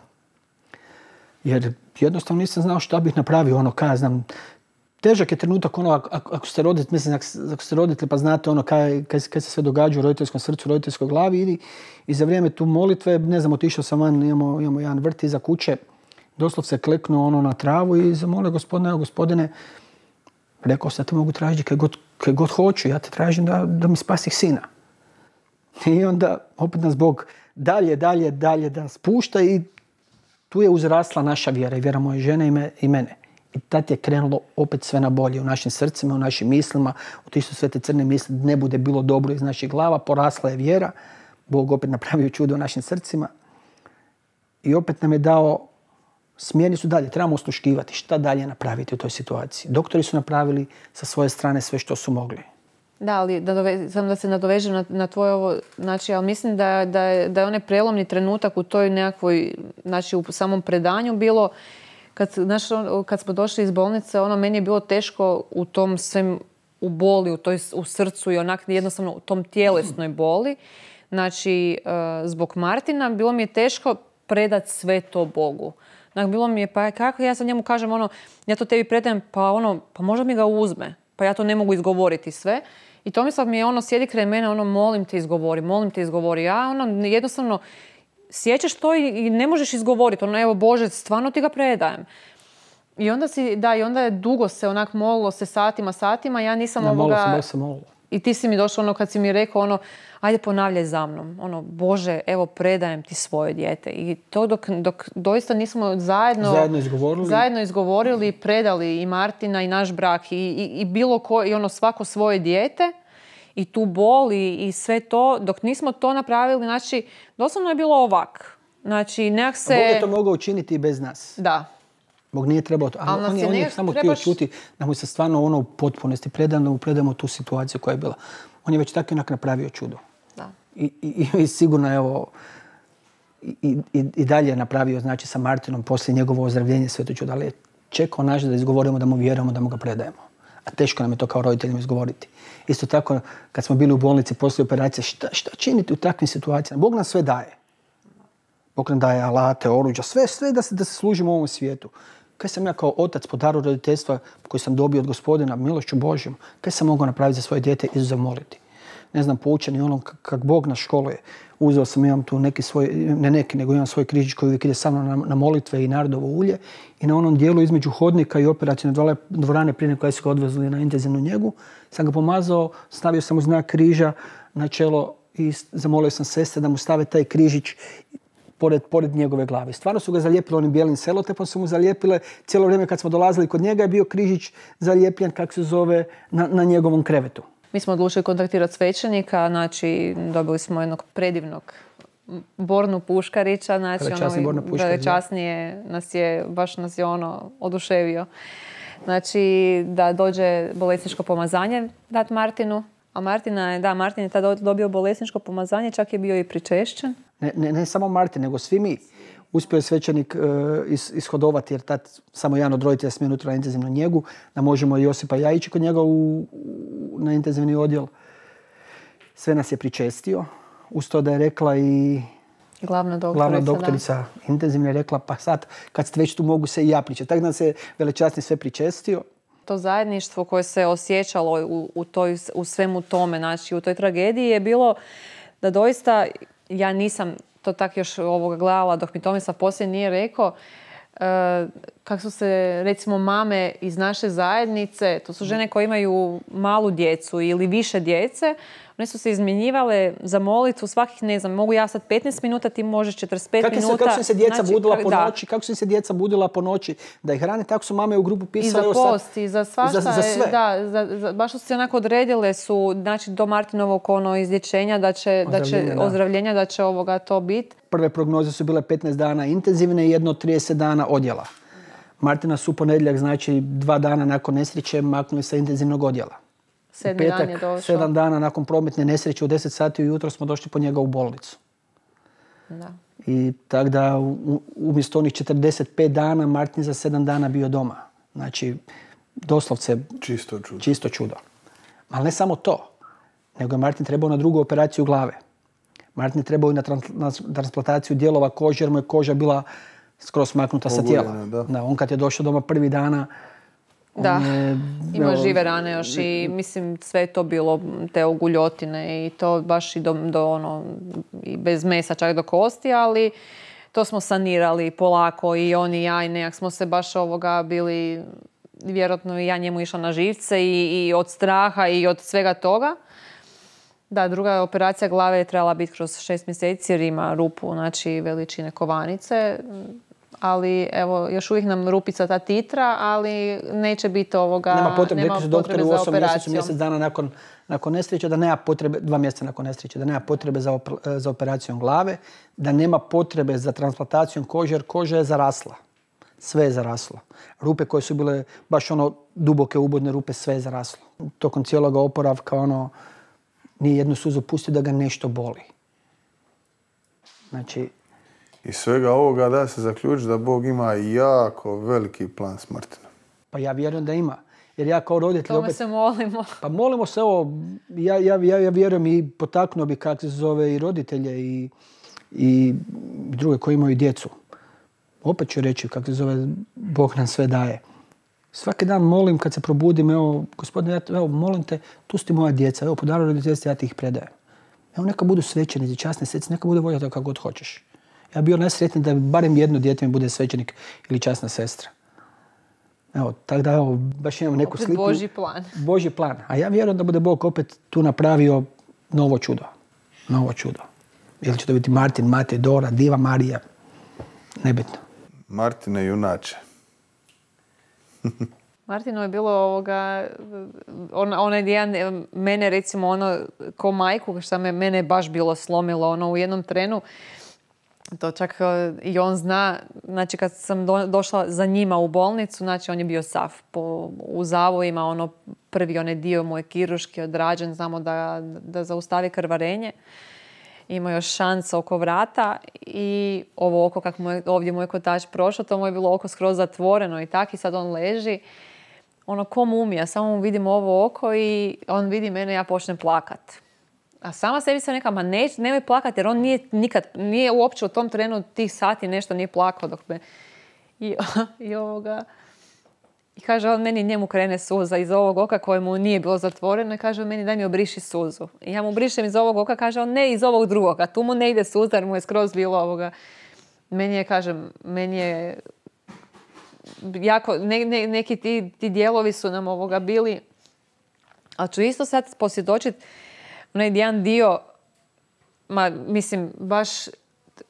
Jer jednostavno nisam znao šta bih napravio, znam. Težak je trenutak ako ste roditelji, mislim ako ste roditelji pa znate kaj se sve događa u roditeljskom srcu, u roditeljskoj glavi i za vrijeme tu molitve, ne znam, otišao sam van, imamo jedan vrt iza kuće, doslovce kleknuo na travu i zamolio gospodine, rekao sam da te mogu tražiti kaj god hoću, ja te tražim da mi spasih sina. I onda opet nas Bog dalje da spušta i tu je uzrasla naša vjera i vjera moje žene i mene. I tad je krenulo opet sve na bolje u našim srcima, u našim mislima, otišli su sve te crne misli, ne bude bilo dobro iz naših glava, porasla je vjera, Bog opet napravio čudo u našim srcima i opet nam je dao smjernicu dalje, trebamo osluškivati šta dalje napraviti u toj situaciji. Doktori su napravili sa svoje strane sve što su mogli. Da, ali samo da se nadovežem na tvoje ovo, znači, ali mislim da je onaj prelomni trenutak u toj nekakvoj, znači u samom predanju bilo, kad smo došli iz bolnice, meni je bilo teško u tom svem, u boli, u srcu i jednostavno u tom tjelesnoj boli. Znači, zbog Martina bilo mi je teško predati sve to Bogu. Znači, bilo mi je, pa kako ja sad njemu kažem, ja to tebi predajem, pa možda mi ga uzme. Pa ja to ne mogu izgovoriti sve. I Tomislav mi je sjedi kraj mene, molim te izgovori. Ja jednostavno sjećaš to i ne možeš izgovoriti. Evo Bože, stvarno ti ga predajem. I onda je dugo se molilo se satima. Ja nisam molila. I ti si mi došao kad si mi rekao ajde ponavljaj za mnom. Bože, evo predajem ti svoje dijete. I to dok doista nismo zajedno izgovorili, predali i Martina i naš brak i bilo ko, i svako svoje dijete. I tu bol i sve to, dok nismo to napravili, znači, doslovno je bilo ovak. Znači, nekak se... Bog je to mogao učiniti i bez nas. Da. Bog nije trebao to. On je samo htio čuti da mu se stvarno u potpunosti predamo tu situaciju koja je bila. On je već tako inak napravio čudo. Da. I sigurno, evo, i dalje je napravio, znači, sa Martinom poslije njegovo ozdravljenje sve to čudo. Ali je čekao naš da izgovorimo, da mu vjerujemo, da mu ga predajemo. A teško nam je to kao roditeljima izgovoriti. Isto tako, kad smo bili u bolnici poslije operacije, šta činiti u takvim situacijama? Bog nam sve daje. Bog nam daje alate, oruđa, sve da se služimo u ovom svijetu. Kaj sam ja kao otac po daru roditeljstva koji sam dobio od Gospodina, milošću Božjom, kaj sam mogao napraviti za svoje dijete, izuzev moliti? Ne znam, poučeni kak Bog nas školuje. Uzeo sam, imam tu imam svoj križić koji uvijek ide sa mnom na molitve i narodovo ulje. I na onom dijelu između hodnika i operacijne dvorane prije koje su ga odvezli na intenzivnu njegu, sam ga pomazao, stavio sam mu znak križa na čelo i zamolio sam sestre da mu stave taj križić pored njegove glave. Stvarno su ga zalijepili onim bijelim selotepom, su mu zalijepile. Cijelo vrijeme kad smo dolazili kod njega je bio križić zalijepljen, kako se zove, na njegovom krevetu. Mi smo odlučili kontaktirati svećenika, znači dobili smo jednog predivnog Bornu Puškarića, znači časnije baš nas je oduševio. Znači da dođe bolesničko pomazanje dati Martinu, a Martin je tada dobio bolesničko pomazanje, čak je bio i pričešćen. Ne samo Martin, nego svi mi. Uspio je svećenik ishodovati, jer tad samo jedan od roditelja smije unutra na intenzivnu njegu, da možemo Josipa i ja ići kod njega na intenzivni odjel. Sve nas je pričestio. Uz to da je rekla i glavna doktorica intenzivne je rekla, pa sad kad ste već tu mogu se i ja pričati. Tako da se velečasni sve pričestio. To zajedništvo koje se osjećalo u svemu tome, znači u toj tragediji je bilo da doista, ja nisam to tak još gledala dok mi Tomislav poslije nije rekao, kako su se recimo mame iz naše zajednice, to su žene koje imaju malu djecu ili više djece, one su se izmjenjivale za molitvu svakih, ne znam, mogu ja sad 15 minuta, ti možeš 45 minuta. Kako su se djeca budila po noći, kako su se djeca budila po noći da ih hrane, tako su mame u grupu pisale. I za post, i za svašta. Za sve. Da, baš su se onako odredile su, znači do Martinovog izlječenja, ozdravljenja, da će to biti. Prve prognoze su bile 15 dana intenzivne i jedno 30 dana odjela. Martina su u ponedjeljak, znači 2 dana nakon nesreće, maknuli sa intenzivnog odjela. 7. dan je došao. 7 dana nakon prometne nesreće u 10 sati ujutro smo došli po njega u bolnicu. Da. I tako da umjesto onih 45 dana Martin za 7 dana bio doma. Znači, doslovce čisto čudo. Ali ne samo to, nego je Martin trebao na drugu operaciju glave. Martin je trebao i na transplantaciju dijelova kože, jer mu je koža bila skroz maknuta sa tijela. Da, on kad je došao doma prvi dana, ima žive rane još i mislim sve je to bilo te oguljotine i to baš i i bez mesa čak do kosti, ali to smo sanirali polako i on i ja i nekak smo se baš bili, vjerojatno i ja njemu išla na živce i od straha i od svega toga. Da, druga operacija glave je trebala biti kroz 6 mjeseci jer ima rupu, znači veličine kovanice. Ali evo, još uvijek nam rupica ta titra, ali neće biti Nema potrebe, rekli su doktori u 8 mjesecu, mjesec dana nakon nesreće, da nema potrebe, 2 mjeseca nakon nesreće, da nema potrebe za operacijom glave, da nema potrebe za transplantacijom kože, jer koža je zarasla. Sve je zaraslo. Rupe koje su bile baš duboke ubodne rupe, sve je zaraslo. Tokom cijelog oporavka nije jednu suzu pustio da ga nešto boli. Znači, iz svega ovoga da se zaključi da Bog ima jako veliki plan s Martinom. Pa ja vjerujem da ima. Jer ja kao roditelj opet... se molimo. Pa molimo se ja vjerujem i potaknuo bi kako se zove i roditelje i druge koji imaju djecu. Opet ću reći kako se zove, Bog nam sve daje. Svaki dan molim kad se probudim, gospodine, molim te, tu su ti moja djeca, po daru roditeljstva ja ti ih predajem. Neka budu svećenici, časne sestre, neka bude volja tako kako god hoćeš. Ja bio najsretniji da barem jedno dijete mi bude svećenik ili časna sestra. Tako da baš imam neku sliku. Božji plan. Božji plan. A ja vjerujem da bude Bog opet tu napravio novo čudo. Novo čudo. Ili će to biti Martin, Matej, Dora, Diva, Marija. Nebitno. Martine junače. Martinu je bilo onaj jedan, mene recimo ko majku, što mene je baš bilo slomilo u jednom trenu. To čak i on zna, znači kad sam došla za njima u bolnicu, znači on je bio sav u zavojima, prvi onaj dio moje kirurški odrađen, znamo da zaustavi krvarenje. Ima još šansa oko vrata i ovo oko, kako ovdje moj kotač prošao, to mu je bilo oko skroz zatvoreno i tako i sad on leži. Ko mumija, samo mu vidim ovo oko i on vidi mene, ja počnem plakat. A sama sebi sam neka, nemoj plakati jer on nije uopće u tom trenu tih sati nešto nije plakao dok me... I kaže on meni, njemu krene suza iz ovog oka koje mu nije bilo zatvoreno i kaže on meni daj mi obriši suzu. I ja mu brišem iz ovog oka, kaže on ne iz ovog drugog, a tu mu ne ide suza jer mu je skroz bilo Meni je jako, neki ti dijelovi su nam bili, ali ću isto sad posvjedočiti onaj jedan dio, baš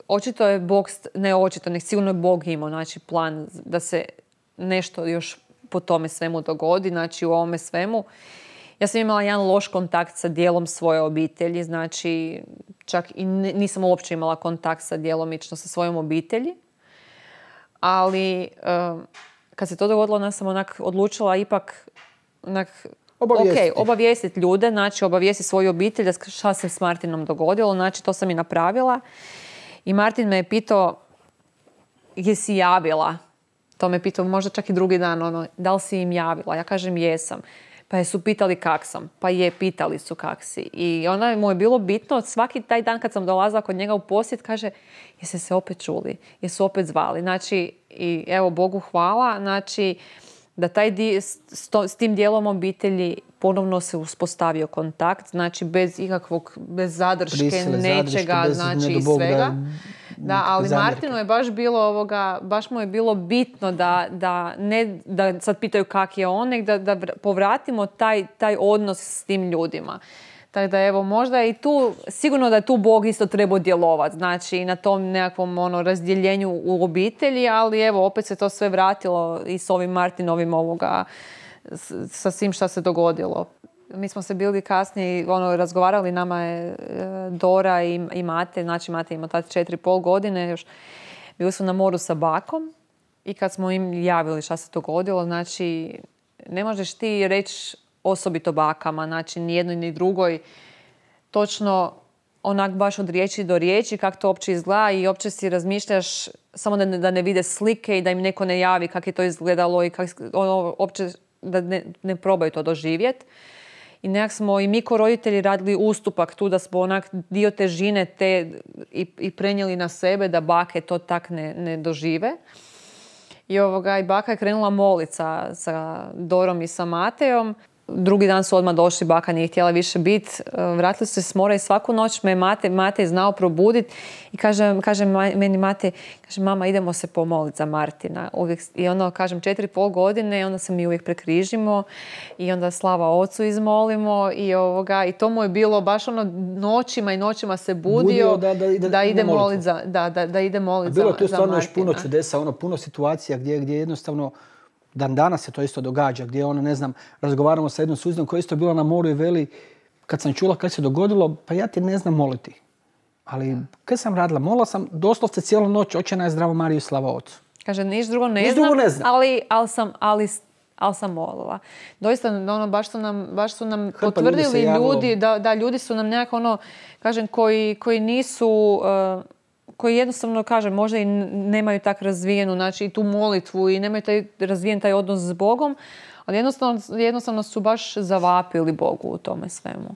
očito je Bog, ne očito, nek sigurno je Bog imao, znači plan da se nešto još po tome svemu dogodi, znači u ovome svemu. Ja sam imala jedan loš kontakt sa dijelom svoje obitelji, znači čak i nisam uopće imala kontakt sa djelomično sa svojom obitelji, ali kad se to dogodilo, ona sam odlučila ipak obavijestiti ljude, znači obavijestiti svoju obitelj da šta se s Martinom dogodilo, znači to sam i napravila. I Martin me je pitao jesi javila? To me pitao možda čak i drugi dan, ono, da li si im javila? Ja kažem jesam. Pa su pitali kak sam. Pa pitali su kak si. I ona mu je bilo bitno, svaki taj dan kad sam dolazila kod njega u posjet, kaže, jeste se opet čuli, jesu opet zvali. Znači, i evo, Bogu hvala, znači, da s tim dijelom obitelji ponovno se uspostavio kontakt, znači bez zadrške, nečega, znači svega. Da, ali Martinu je baš bilo baš mu je bilo bitno da sad pitaju kak je on, nek da povratimo taj odnos s tim ljudima. Tako da evo, možda je i tu, sigurno da je tu Bog isto trebao djelovati, znači na tom nekakvom razdjeljenju u obitelji, ali evo, opet se to sve vratilo i s ovim Martinovim sa svim šta se dogodilo. Mi smo se bili kasnije razgovarali, nama je Dora i Mate, znači Mate ima tad 4,5 godine, još bili su na moru sa bakom i kad smo im javili šta se dogodilo, znači ne možeš ti reći osobito bakama, znači ni jednoj ni drugoj, točno onak baš od riječi do riječi kako to uopće izgleda i uopće si razmišljaš samo da ne vide slike i da im neko ne javi kako je to izgledalo i uopće da ne probaju to doživjeti. I nekak smo i mi ko roditelji radili ustupak tu da smo onak dio težine i prenijeli na sebe da bake to tak ne dožive. I baka je krenula moliti sa Dorom i sa Matejom. Drugi dan su odmah došli, baka nije htjela više biti. Vratili su se s mora i svaku noć me Matej znao probuditi. I kaže meni Matej, kaže, mama, idemo se pomoliti za Martina. I onda, kažem, 4,5 godine i onda se mi uvijek prekrižimo i onda slava ocu izmolimo i to mu je bilo baš noćima i noćima se budio da ide moliti za Martina. Bilo je tu stvarno još puno čudesa, puno situacija gdje jednostavno danas se to isto događa, gdje razgovaramo sa jednom suzdom koja je isto bila na moru i veli, kad sam čula kad se dogodilo, pa ja ti ne znam moliti. Ali kad sam radila, molila sam doslovce cijelu noć, Oče naš, zdravo Mariju, slava Ocu. Kaže, niš drugo ne znam, ali sam molila. Doista, baš su nam potvrdili ljudi, da ljudi su nam nekako kažem, koji nisu... koji jednostavno, kažem, možda i nemaju tak razvijenu, znači i tu molitvu i nemaju razvijen taj odnos s Bogom, ali jednostavno su baš zavapili Bogu u tome svemu.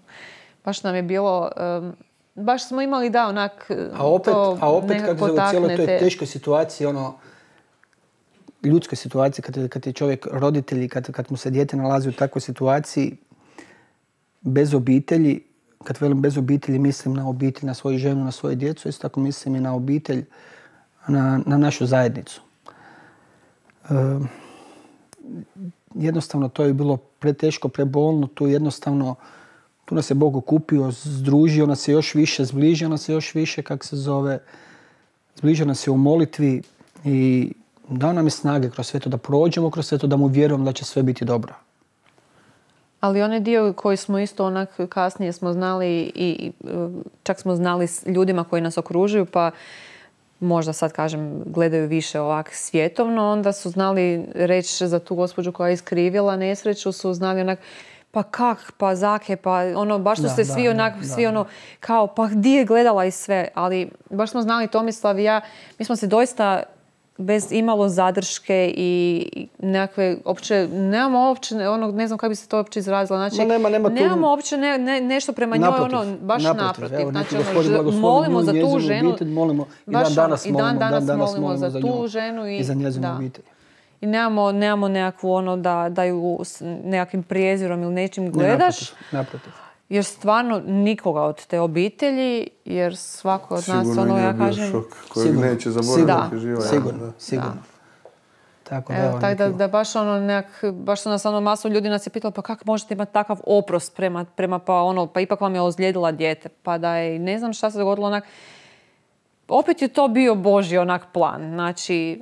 Baš nam je bilo, baš smo imali onak a opet kako se u cijeloj toj teškoj situaciji, ljudskoj situaciji, kad je čovjek roditelj, kad mu se dijete nalazi u takvoj situaciji, bez obitelji, kad velim bez obitelji, mislim na obitelj, na svoju ženu, na svoju djecu, isto tako mislim i na obitelj, na našu zajednicu. Jednostavno to je bilo preteško, prebolno, tu nas je Bog okupio, združio nas je još više, zbližio nas je još više, zbližio nas je u molitvi i dao nam je snage kroz sve to da prođemo, kroz sve to da mu vjerujemo da će sve biti dobro. Ali onaj dio koji smo isto onak kasnije smo znali i čak smo znali s ljudima koji nas okružuju, pa možda sad kažem gledaju više ovak svjetovno, onda su znali reći za tu gospođu koja je iskrivila nesreću, su znali onak pa kak, pa zake, pa baš su se svi kao pa gdje je gledala i sve, ali baš smo znali Tomislav i ja, mi smo se doista bez imalo zadrške i nekakve, nemamo uopće, ne znam kako bi se to uopće izrazila, znači, nemamo uopće nešto prema njoj, baš naprotiv. Znači, molimo za tu ženu, i dan danas molimo za tu ženu i za njezinu obitelj. I nemamo nekakvu da ju nekakvim prezirom ili nečim gledaš. Naprotiv. Jer stvarno nikoga od te obitelji, jer svako od nas, ja kažem... Sigurno šok kojeg neće zaboraviti živa. Sigurno. Tako da baš su nas masu ljudi nas je pitalo pa kako možete imati takav oprost prema pa ipak vam je ozlijedila dijete. Pa da je, ne znam šta se dogodilo opet je to bio Božji plan. Znači,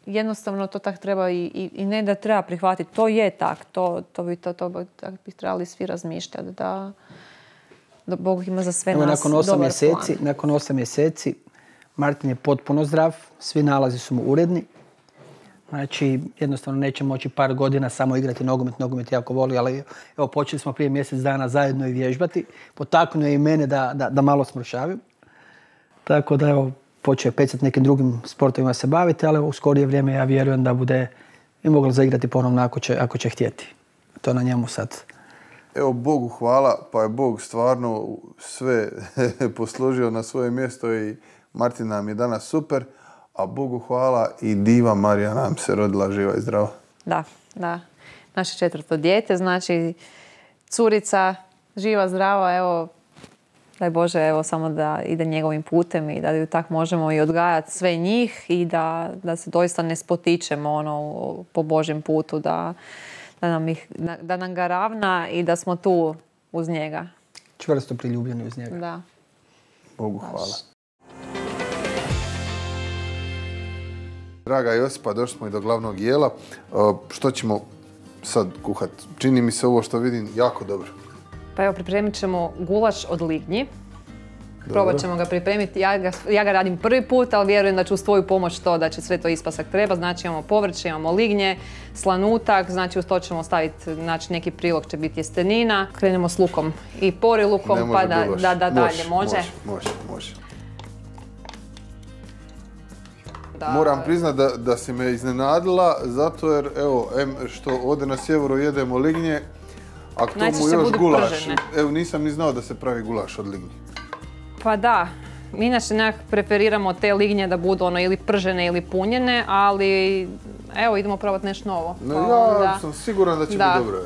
jednostavno to tak treba i ne da treba prihvatiti. To je tak. To bi trebali svi razmišljati. Da Bog ima za sve nas dobar plan. Nakon 8 mjeseci Martin je potpuno zdrav. Svi nalazi su mu uredni. Znači, jednostavno neće moći par godina samo igrati nogomet. Nogomet jako voli, ali evo, počeli smo prije mjesec dana zajedno i vježbati. Potaknuo je i mene da malo smršavim. Tako da, evo, počeo pecati nekim drugim sportovima se baviti, ali u skorije vrijeme ja vjerujem da bude i mogla zaigrati ponovno ako će htjeti. To na njemu sad. Evo, Bogu hvala, pa je Bog stvarno sve posložio na svoje mjesto i Martin nam je danas super, a Bogu hvala i diva Marija nam se rodila živa i zdrava. Da, da. Naše 4. dijete, znači curica živa, zdrava, evo, daj Bože, evo, samo da ide njegovim putem i da ju tak možemo i odgajati sve njih i da se doista ne spotičemo po Božjem putu, da nam ga ravna i da smo tu uz njega. Čvrsto priljubljeni uz njega. Da. Bogu hvala. Draga Josipa, došli smo i do glavnog jela. Što ćemo sad kuhati? Čini mi se ovo što vidim jako dobro. Pa evo, pripremit ćemo gulaš od lignji. Probat ćemo ga pripremiti. Ja ga radim prvi put, ali vjerujem da ću uz tvoju pomoć da će sve to ispasak treba. Znači imamo povrće, imamo lignje, slanutak, znači uz to ćemo staviti, znači neki prilog će biti jestenina. Krenemo s lukom i porilukom, pa da dalje može. Može. Moram priznat da si me iznenadila, zato jer, evo, što ovdje na sjeveru jedemo lignje, a k tomu još gulaš. Evo, nisam ni znao da se pravi gulaš od lignje. Pa da, mi inače nekako preferiramo te lignje da budu ili pržene ili punjene, ali evo, idemo probati nešto novo. Ja sam siguran da će biti dobro.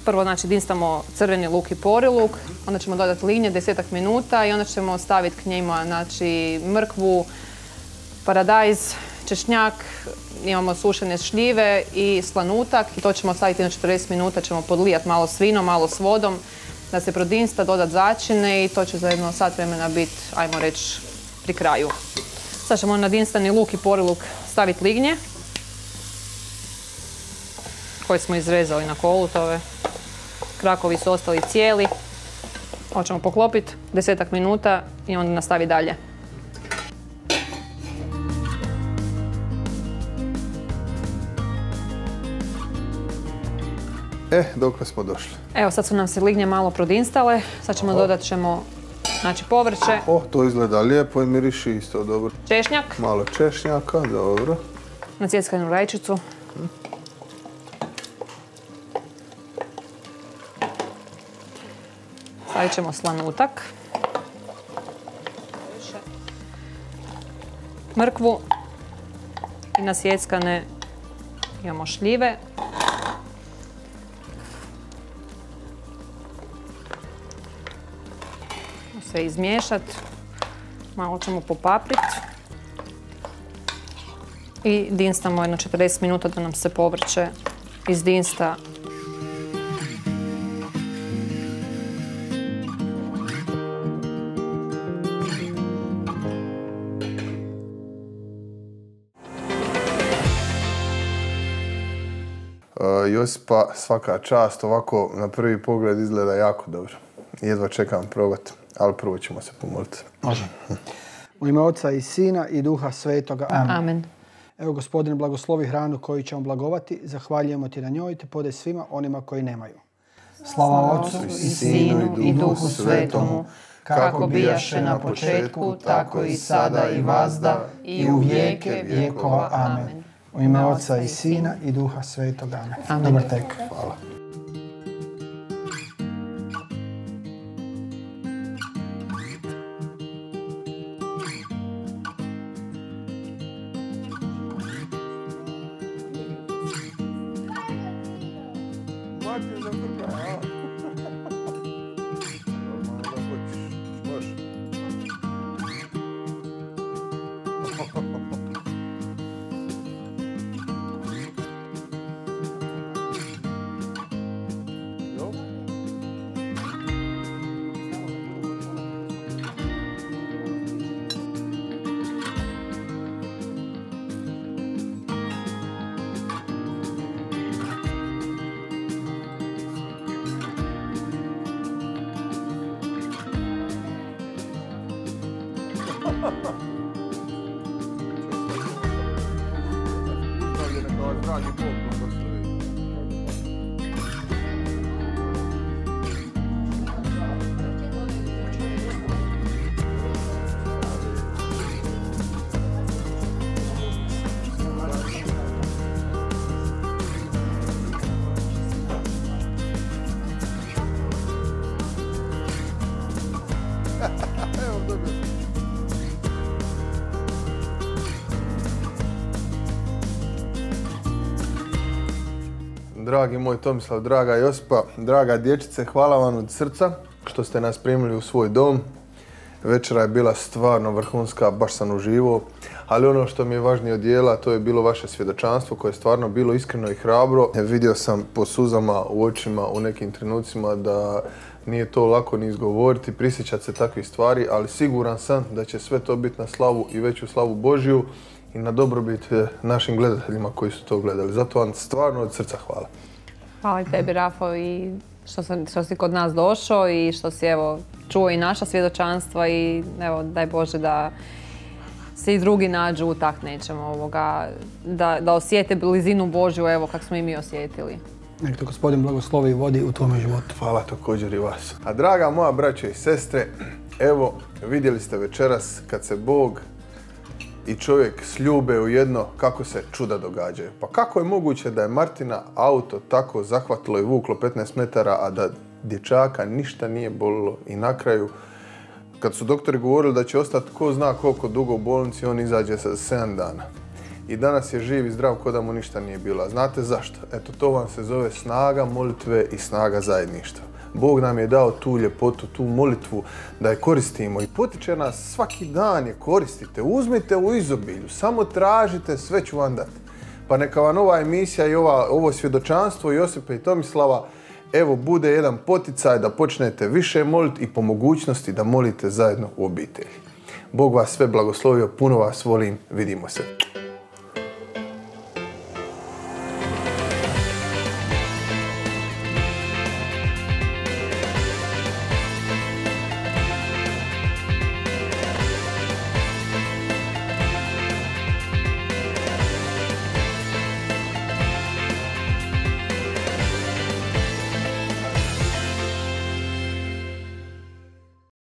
Prvo, znači, dinstamo crveni luk i poriluk, onda ćemo dodati lignje 10 minuta i onda ćemo staviti k njima, znači, mrkvu, paradajz, češnjak, imamo sušene šljive i slanutak i to ćemo staviti na 40 minuta, ćemo podlijati malo s vinom, malo s vodom, da se prodinsta, dodati začine i to će za jedno sat vremena biti, ajmo reći, pri kraju. Sad ćemo na dinstani luk i poriluk staviti lignje koje smo izrezali na kolutove. Krakovi su ostali cijeli. Ovo ćemo poklopiti 10 minuta i onda nastavi dalje. Dokle smo došli? Evo, sad su nam se lignje malo prodinstale. Sad ćemo dodat znači, povrće. To izgleda lijepo i miriši isto dobro. Češnjak. Malo češnjaka, dobro. Nacijeckanu rajčicu. Stavit ćemo slanutak. Mrkvu. I nasjeckane imamo šljive. Sve izmiješati, malo ćemo popapriti i dinstamo jedno 40 minuta da nam se povrće izdinsta. Josipa, svaka čast, ovako na prvi pogled izgleda jako dobro. Jedva čekam probati. Ali prvo ćemo se pomoliti. Može. U ime Oca i Sina i Duha Svetoga. Amen. Evo, Gospodine, blagoslovi hranu koju ćemo blagovati. Zahvaljujemo ti na njoj, te podaj svima onima koji nemaju. Slava Otcu i Sinu i Duhu Svetomu, kako bijaše na početku, tako i sada i vazda i u vijeke vjekova. Amen. U ime Oca i Sina i Duha Svetoga. Amen. Dobar tek. Hvala. Dragi moj Tomislav, draga Josipa, draga dječice, hvala vam od srca što ste nas primili u svoj dom. Večera je bila stvarno vrhunska, baš sam uživao, ali ono što mi je važnije od dijela, to je bilo vaše svjedočanstvo koje je stvarno bilo iskreno i hrabro. Vidio sam po suzama u očima u nekim trenucima da nije to lako ni izgovoriti, prisjećati se takvih stvari, ali siguran sam da će sve to biti na slavu i veću slavu Božju i na dobrobit našim gledateljima koji su to gledali. Zato vam stvarno od srca hvala. Hvala i tebi, Rafo, i što si kod nas došao i što si čuo i naša svjedočanstva i daj Bože da se i drugi nađu u tak nečemu, da osjete blizinu Božju kako smo i mi osjetili. Nek te Gospodin blagoslovi i vodi u tvome životu. Hvala također i vas. A draga moja braćo i sestre, evo vidjeli ste večeras kad se Bog i čovjek sljube u jedno, kako se čuda događaju. Pa kako je moguće da je Martina auto tako zahvatilo i vuklo 15 metara, a da dječaka ništa nije bolilo i na kraju, kad su doktori govorili da će ostati ko zna koliko dugo u bolnici, on izađe sa 7 dana. I danas je živ i zdrav ko da mu ništa nije bilo. A znate zašto? Eto, to vam se zove snaga molitve i snaga zajedništva. Bog nam je dao tu ljepotu, tu molitvu da je koristimo i potiče nas svaki dan je koristite. Uzmite u izobilju, samo tražite, sve ću vam dati. Pa neka vam ova emisija i ovo svjedočanstvo Josipa i Tomislava bude jedan poticaj da počnete više moliti i po mogućnosti da molite zajedno u obitelji. Bog vas sve blagoslovio, puno vas volim, vidimo se.